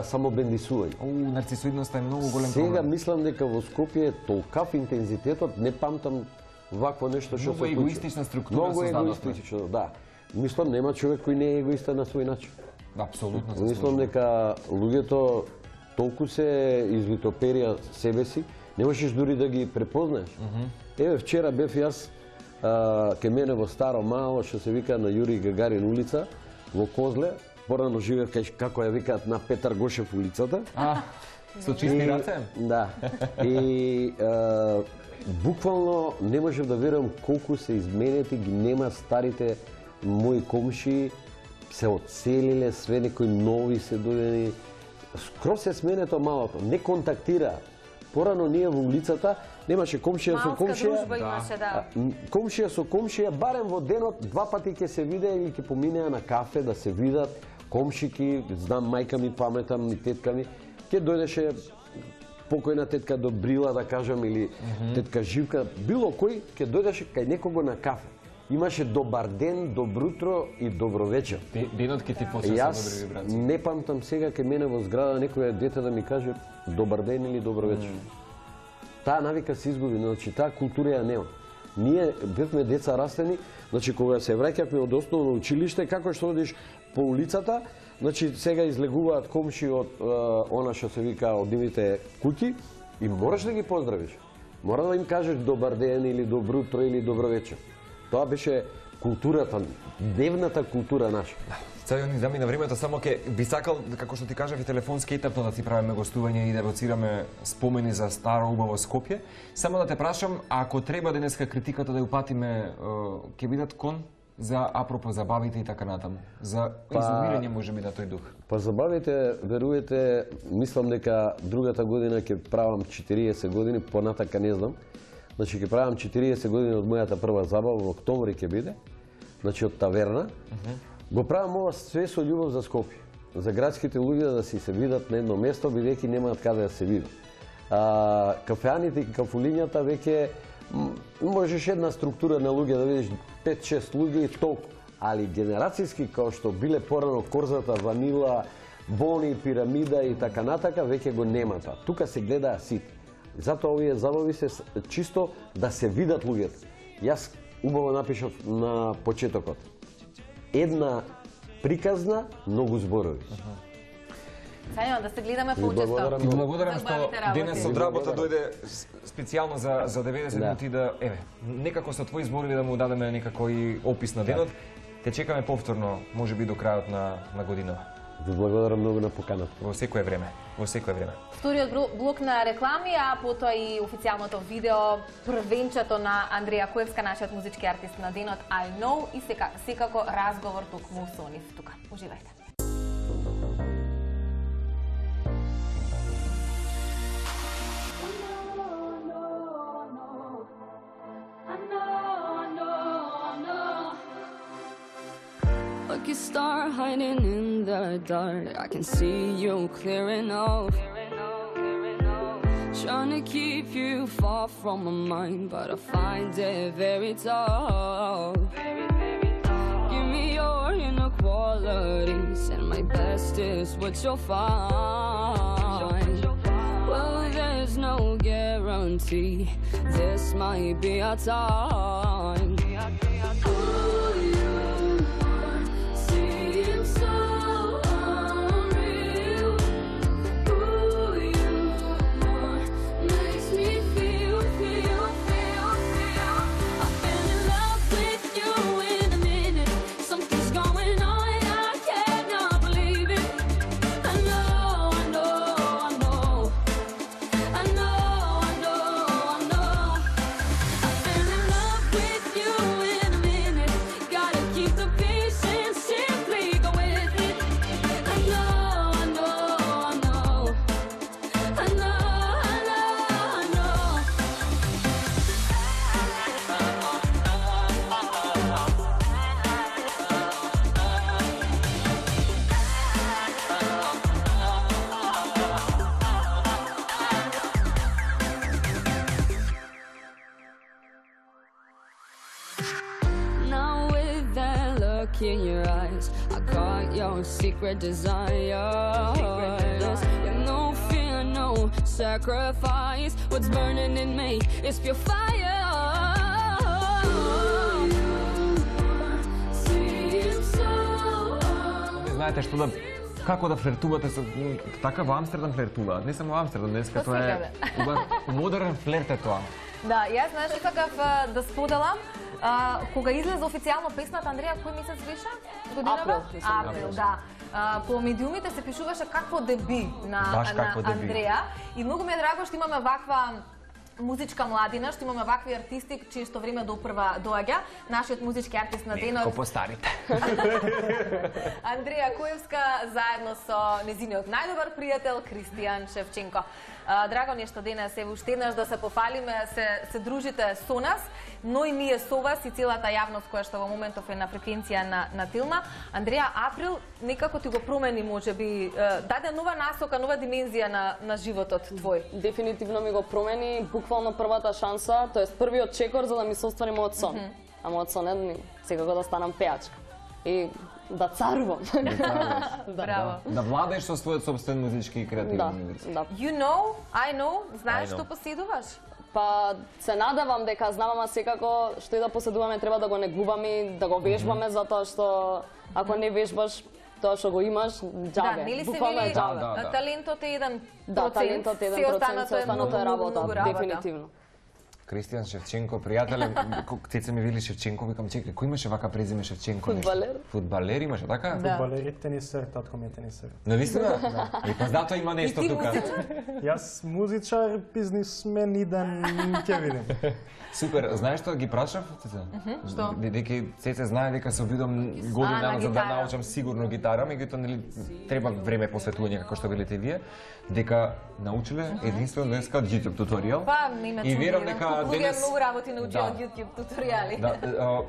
самобендисување. О, нарцисоидноста е многу голем проблем. Сега мислам дека во Скопје толкав интензитетот, не памтам вакво нешто што се случи. Многу егоистична структура Многу егоистично, да. Мислам нема човек кој не е егоиста на свој начин. Апсолутно. Мислам дека луѓето толку се извитоперија себе си, не можеш дури да ги препознаеш. Еве вчера бев јас ке мене во Старо Мало, што се вика на Јури Гагарин улица, во Козле. Порано живеев кај како ја викаат на Петар Гошев улицата. А, со чисти раце? Да. И е, буквално не можев да верувам колку се изменети, ги нема старите мои комши, се одселиле, све некои нови се дојдени. Скроз се сменето малото, не контактира. Порано ние во улицата немаше комшија со комшија. Малска дружба имаше, да. Комшија со комшија, барем во денот два пати ќе се видеа или ќе поминеа на кафе да се видат. Комшики, знам мајка ми, паметам и тетка ми, ќе дојдеше покојна тетка Добрила, да кажам, или mm -hmm. тетка Живка, било кој ќе дојдеше кај некого на кафе. Имаше добар ден, добро утро и добро вечер. Денот ќе ти почне со добри вибрации. Јас не памтам сега кај мене во зграда некој дете да ми каже добар ден или добро вечер. Mm. Таа навика се изгуби, значи таа култура ја нема. Ние бевме деца растени, значи кога се враќавме од основно училиште, како што одиш по улицата, значи сега излегуваат комши од е, она што се вика од нивните куќи и мораш да ги поздравиш. Мора да им кажеш добар ден или добро утро или добро вечер. Тоа беше културата, дневната култура наша. Сега ни замина времето, само ке би сакал, како што ти кажав, и телефонски етапно да ти правиме гостување и да евоцираме спомени за старо убаво Скопје. Само да те прашам, ако треба денеска критиката да ја упатиме, ќе бидат кон за апропо забавите и така натаму, за па, изолирање можеби на тој дух. Па забавите, верувате, мислам дека другата година ќе правам четириесет години, понатака не знам. Значи ќе правам четириесет години од мојата прва забава, во октомври ќе биде, значи од таверна. Uh -huh. Го правам ова све со љубов за Скопје, за градските луѓе да си се видат на едно место, бидејќи немаат каде да се видат. А, кафеаните и кафулињата веќе можеш една структура на луѓе да видиш пет-шест луѓе и толку, али генерацијски како што биле порано Корзата, Ванила, Бони, Пирамида и така натака, веќе го нема тоа. Тука се гледаа сите. Затоа овие забави се чисто да се видат луѓето. Јас убаво напишав на почетокот. Една приказна, многу зборови. Сајно, да се гледаме поучесто. И благодарам што денес од работа дојде специјално за за деветдесет минути да, еве, некако со твои зборови да му дадеме некако и опис на денот. Те чекаме повторно, можеби до крајот на на годинава. Ви благодарам многу на поканата. Во секое време, во секое време. Вториот блок на реклами, а потоа и официјалното видео, првенчето на Андреја Коевска, нашиот музички артист на денот I Know и сека, секако разговор токму со нив тука. Уживајте. Like a star hiding in the dark, I can see you clear enough. Trying to keep you far from my mind, but I find it very tough. Give me your inequalities, and my best is what you'll find. Well, there's no guarantee, this might be our time. Something's going on, I cannot look in your eyes. I caught your secret desires. Yeah, no fear, no sacrifice. What's burning in me is pure fire. Знаете што да како да флиртувате со така во Амстердам флиртуваат. Не само во Амстердам, денеска тоа е убав модерен флирт е тоа. Да, јас знаеш што сакав да споделам, а, кога излезе официјално песната, Андреја, кој месец беше? Април. Април, да. А, по медиумите се пишуваше какво деби на, на Андреја и многу ми е драго што имаме ваква музичка младина, што имаме вакви артисти, чие што време допрва доаѓа. Нашиот музички артист на денот... Некако постарите. Андреја Коевска, заедно со незиниот најдобар пријател, Кристијан Шевченко. Драго ни е што денес е уште еднаш да се пофалиме, се, се дружите со нас, но и ние со вас и целата јавност која што во моментов е на фреквенција на, на Тилна. Андреја, Април некако ти го промени, можеби, даде нова насока, нова димензија на, на животот твој. Дефинитивно ми го промени, буквално првата шанса, тоест првиот чекор за да ми се оствари мојот сон. Mm -hmm. А мојот сон е секако да станам пеачка. И да царувам. Да, браво. Да, да владаеш со својот собствен музички и креативни да, мир. Да. You know, I know, знаеш што поседуваш? Па се надевам дека знам, ама секако што и да поседуваме треба да го негуваме, да го вежбаме, mm -hmm. затоа што ако не вежбаш тоа што го имаш, џабе. Да, нели се буквално вели, џабе. да, да. Талентот е еден процент, да, талентот е еден процент, се останато е работа, дефинитивно. Кристијан Шевченко, пријателе, Цеца ми вели Шевченко, викам, чекај, кој имаше вака презиме Шевченко? Фудбалер. Фудбалер имаше, така? Да. Фудбалер и тенисер, татко ми е тенисер. Навистина? Да. И па затоа има нешто тука. Јас музичар, бизнисмен, иден, ќе видим. Супер, знаеш што ги прашав, Цеца? Што? Бидејќи Цеца знае дека се обидам година дана за да научам сигурно гитара, меѓутоа нели треба време посветување како што велите вие, дека научиле единствено денеска од YouTube туторијал. Па, не и верам дека денес многу работи научи од YouTube туторијали. Да,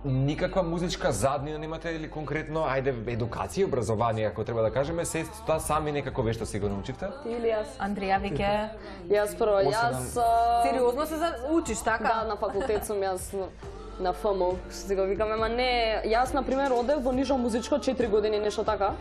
никаква музичка заднина немате или конкретно, ајде, едукација, образование, ако треба да кажеме, се тоа сами некако вешто си го научивте? Ти или јас? Андреја веќе... Јас прво, јас... Сериозно се учиш, така? Да, на факултет сум јас на Ф М У, што си го викаме, ама не... Јас, например, одев во нижо музичко четири години, нешто така.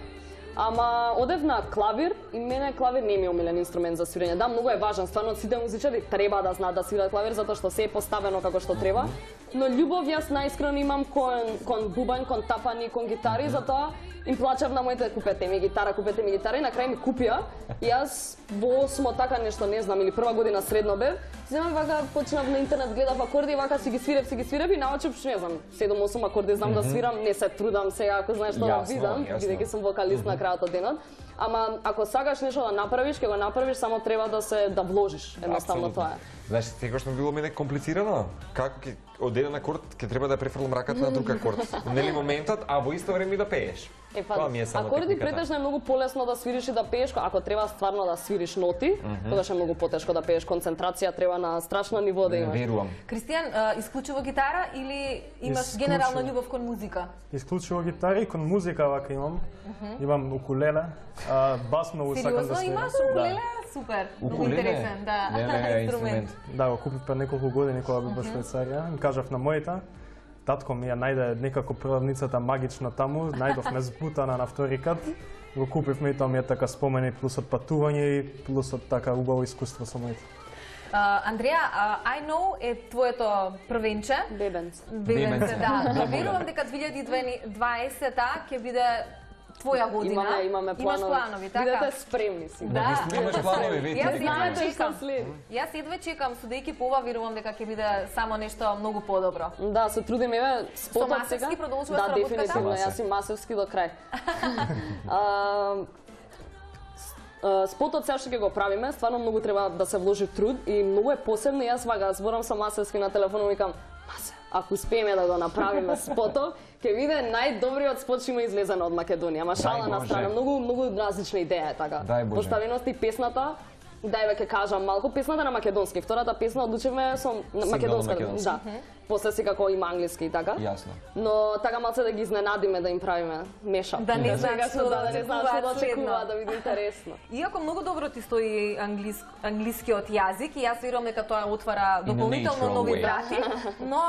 Ама одев на клавир и мене клавир не ми е омилен инструмент за свирење. Да, многу е важен, стварно сите музичари треба да знаат да свират клавир затоа што се е поставено како што треба. Но љубов јас најискрено имам кон кон бубањ, кон тапани, кон гитари, затоа им плачав на моите купете ми гитара, купете ми гитара и на крај ми купија. И јас во осмо така нешто, не знам, или прва година средно бев, земам вака почнав на интернет, гледав акорди и вака си ги свирев, си ги свирев и научив, не знам, седум-осум акорди знам да свирам, не се трудам сега ако знаеш што да видам, бидејќи сум вокалист на крајот од денот. Ама ако сакаш нешто да направиш, ќе го направиш, само треба да се да вложиш, едноставно тоа е. Знаеш, секогаш ми било мене комплицирано. Како ќе од еден акорд ќе треба да префрлам раката на друг акорд. Нели моментот, а во исто време да пееш. Е, па, акорди претежно е многу полесно да свириш и да пееш, ако треба стварно да свириш ноти, mm -hmm. тогаш е многу потешко да пееш, концентрација треба на страшно ниво да имаш. Верувам. Кристијан, исклучиво гитара или имаш Исклучиво. Генерална љубов кон музика? Исклучиво гитара и кон музика вака имам. Mm -hmm. Имам укулеле, а, бас многу сакам да свирам. Сериозно имаш укулеле? Супер, многу интересен, да, не, не, инструмент. Да, го купив пред неколку години кога бев во Швајцарија. Им кажав на мојата, татко ми ја најде некако продавницата магично таму, најдовме збутана на втори кат, го купивме и тоа ми е така спомени плюс од патување и плюс од така убаво искуство со моите. Uh, Андреја, uh, I know е твоето првенче. Бебенце. Бебенце, да. Верувам дека две илјади и дваесета ќе биде твоја година. Имаме, имаме планови. Имаш планови, така? Бидете спремни си. Да. Вистина имаш планови, веќе. Јас едва чекам. Јас едва чекам, судејќи по ова, верувам дека ќе биде само нешто многу подобро. Да, се трудим, еве, спотот сега. Со Масевски продолжува да, работката? Да, дефинитивно, јас и Масевски до крај. Спотот сега што ќе го правиме, стварно многу треба да се вложи труд и многу е посебно. Јас вага зборам со Масевски на телефонот и викам: "Масе, ако успееме да го направиме спотот, ќе биде најдобриот спот што има излезен од Македонија." Ама шала на страна, многу многу различна идеја е така. Поставеност и песната Дај веќе кажам малку песната на македонски. Втората песна одлучивме со македонска. Да. После си како има англиски и така. Јасно. Но така малце да ги изненадиме да им правиме мешап. Да не знаат што да не знаат што да очекуваат, да биде интересно. Иако многу добро ти стои англис, англискиот јазик и јас верувам дека тоа отвара дополнително нови врати, но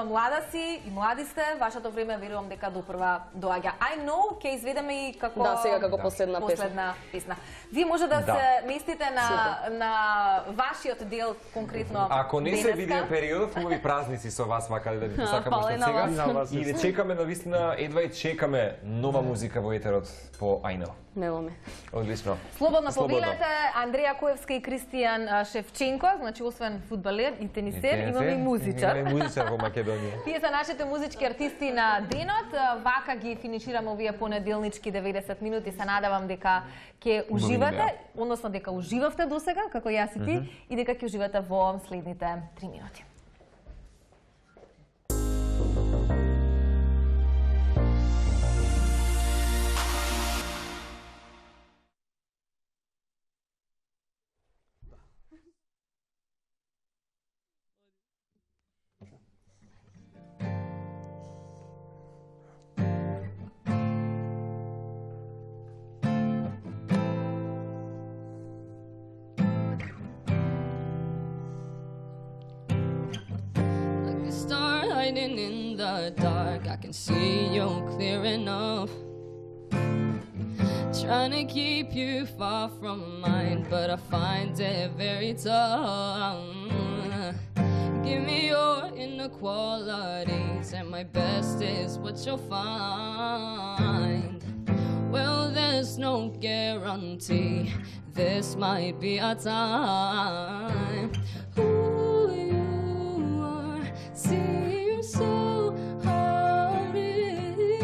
млада си и млади сте, вашето време верувам дека допрва доаѓа. I know ќе изведеме и како Да, сега како последна песна. Последна песна. Вие може да, да. се местите на на вашиот дел конкретно. Ако не се види периодот, хубави празници со вас, макар да ви посакаме уште сега. И да чекаме, навистина, едва и чекаме нова музика во етерот по I know. Немаме. Одлично. Слободно повелете, Андреја Коевска и Кристијан Шевченко, значи освен фудбалер и тенисер, имаме и музичар. Имаме музичар во Македонија. Тие се нашите музички артисти на денот. Вака ги финишираме овие понеделнички деветдесет минути. Се надевам дека ќе уживате, односно дека уживавте досега, како јас и ти, mm -hmm. и дека ќе уживате во следните три минути. In the dark, I can see you clear enough. Trying to keep you far from mine, but I find it very tough. Give me your inequalities, and my best is what you'll find. Well, there's no guarantee this might be our time. Who you are, see. So unreal,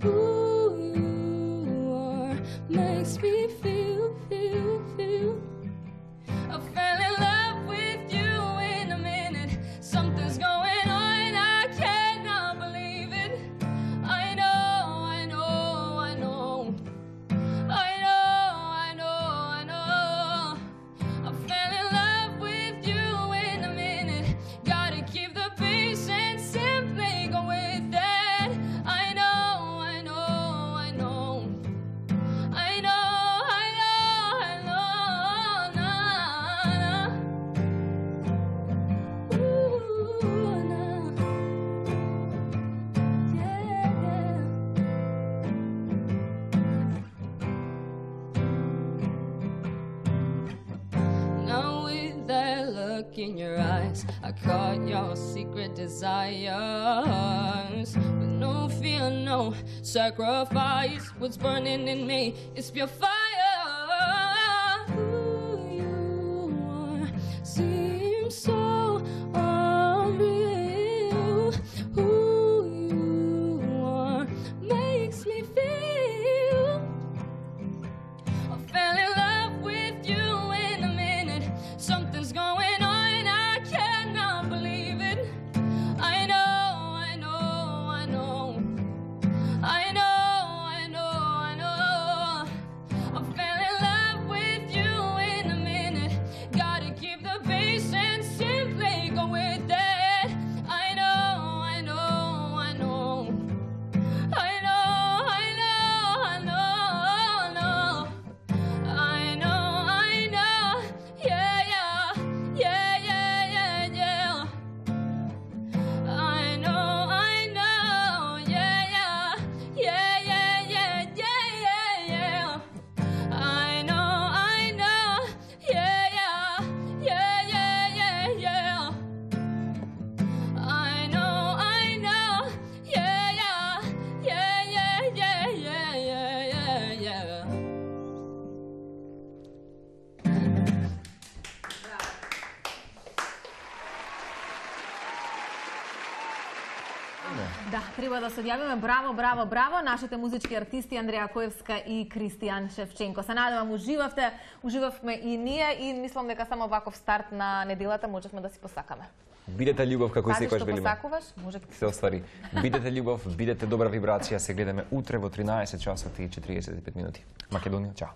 who you are makes me feel, feel, feel. I fell in love with you in a minute. Something's going on, I cannot believe it. I know, I know, I know. I know, I know, I know. I fell in love with you in a minute. Gotta keep the peace and in your eyes, I caught your secret desires. With no fear, no sacrifice. What's burning in me is pure fire. Who you are seems so unreal. Who you are makes me feel. I fell in love with you in a minute. Something's going on. Да, треба да се јавиме. Браво, браво, браво. Нашите музички артисти Андреја Коевска и Кристијан Шевченко. Се надевам уживавте, уживавме и ние и мислам дека само ваков старт на неделата можевме да си посакаме. Бидете љубов како и секогаш велиме. Пази што посакуваш, може се оствари. Бидете љубов, бидете добра вибрација. Се гледаме утре во тринаесет часот и четириесет и пет минути. Македонија, чао.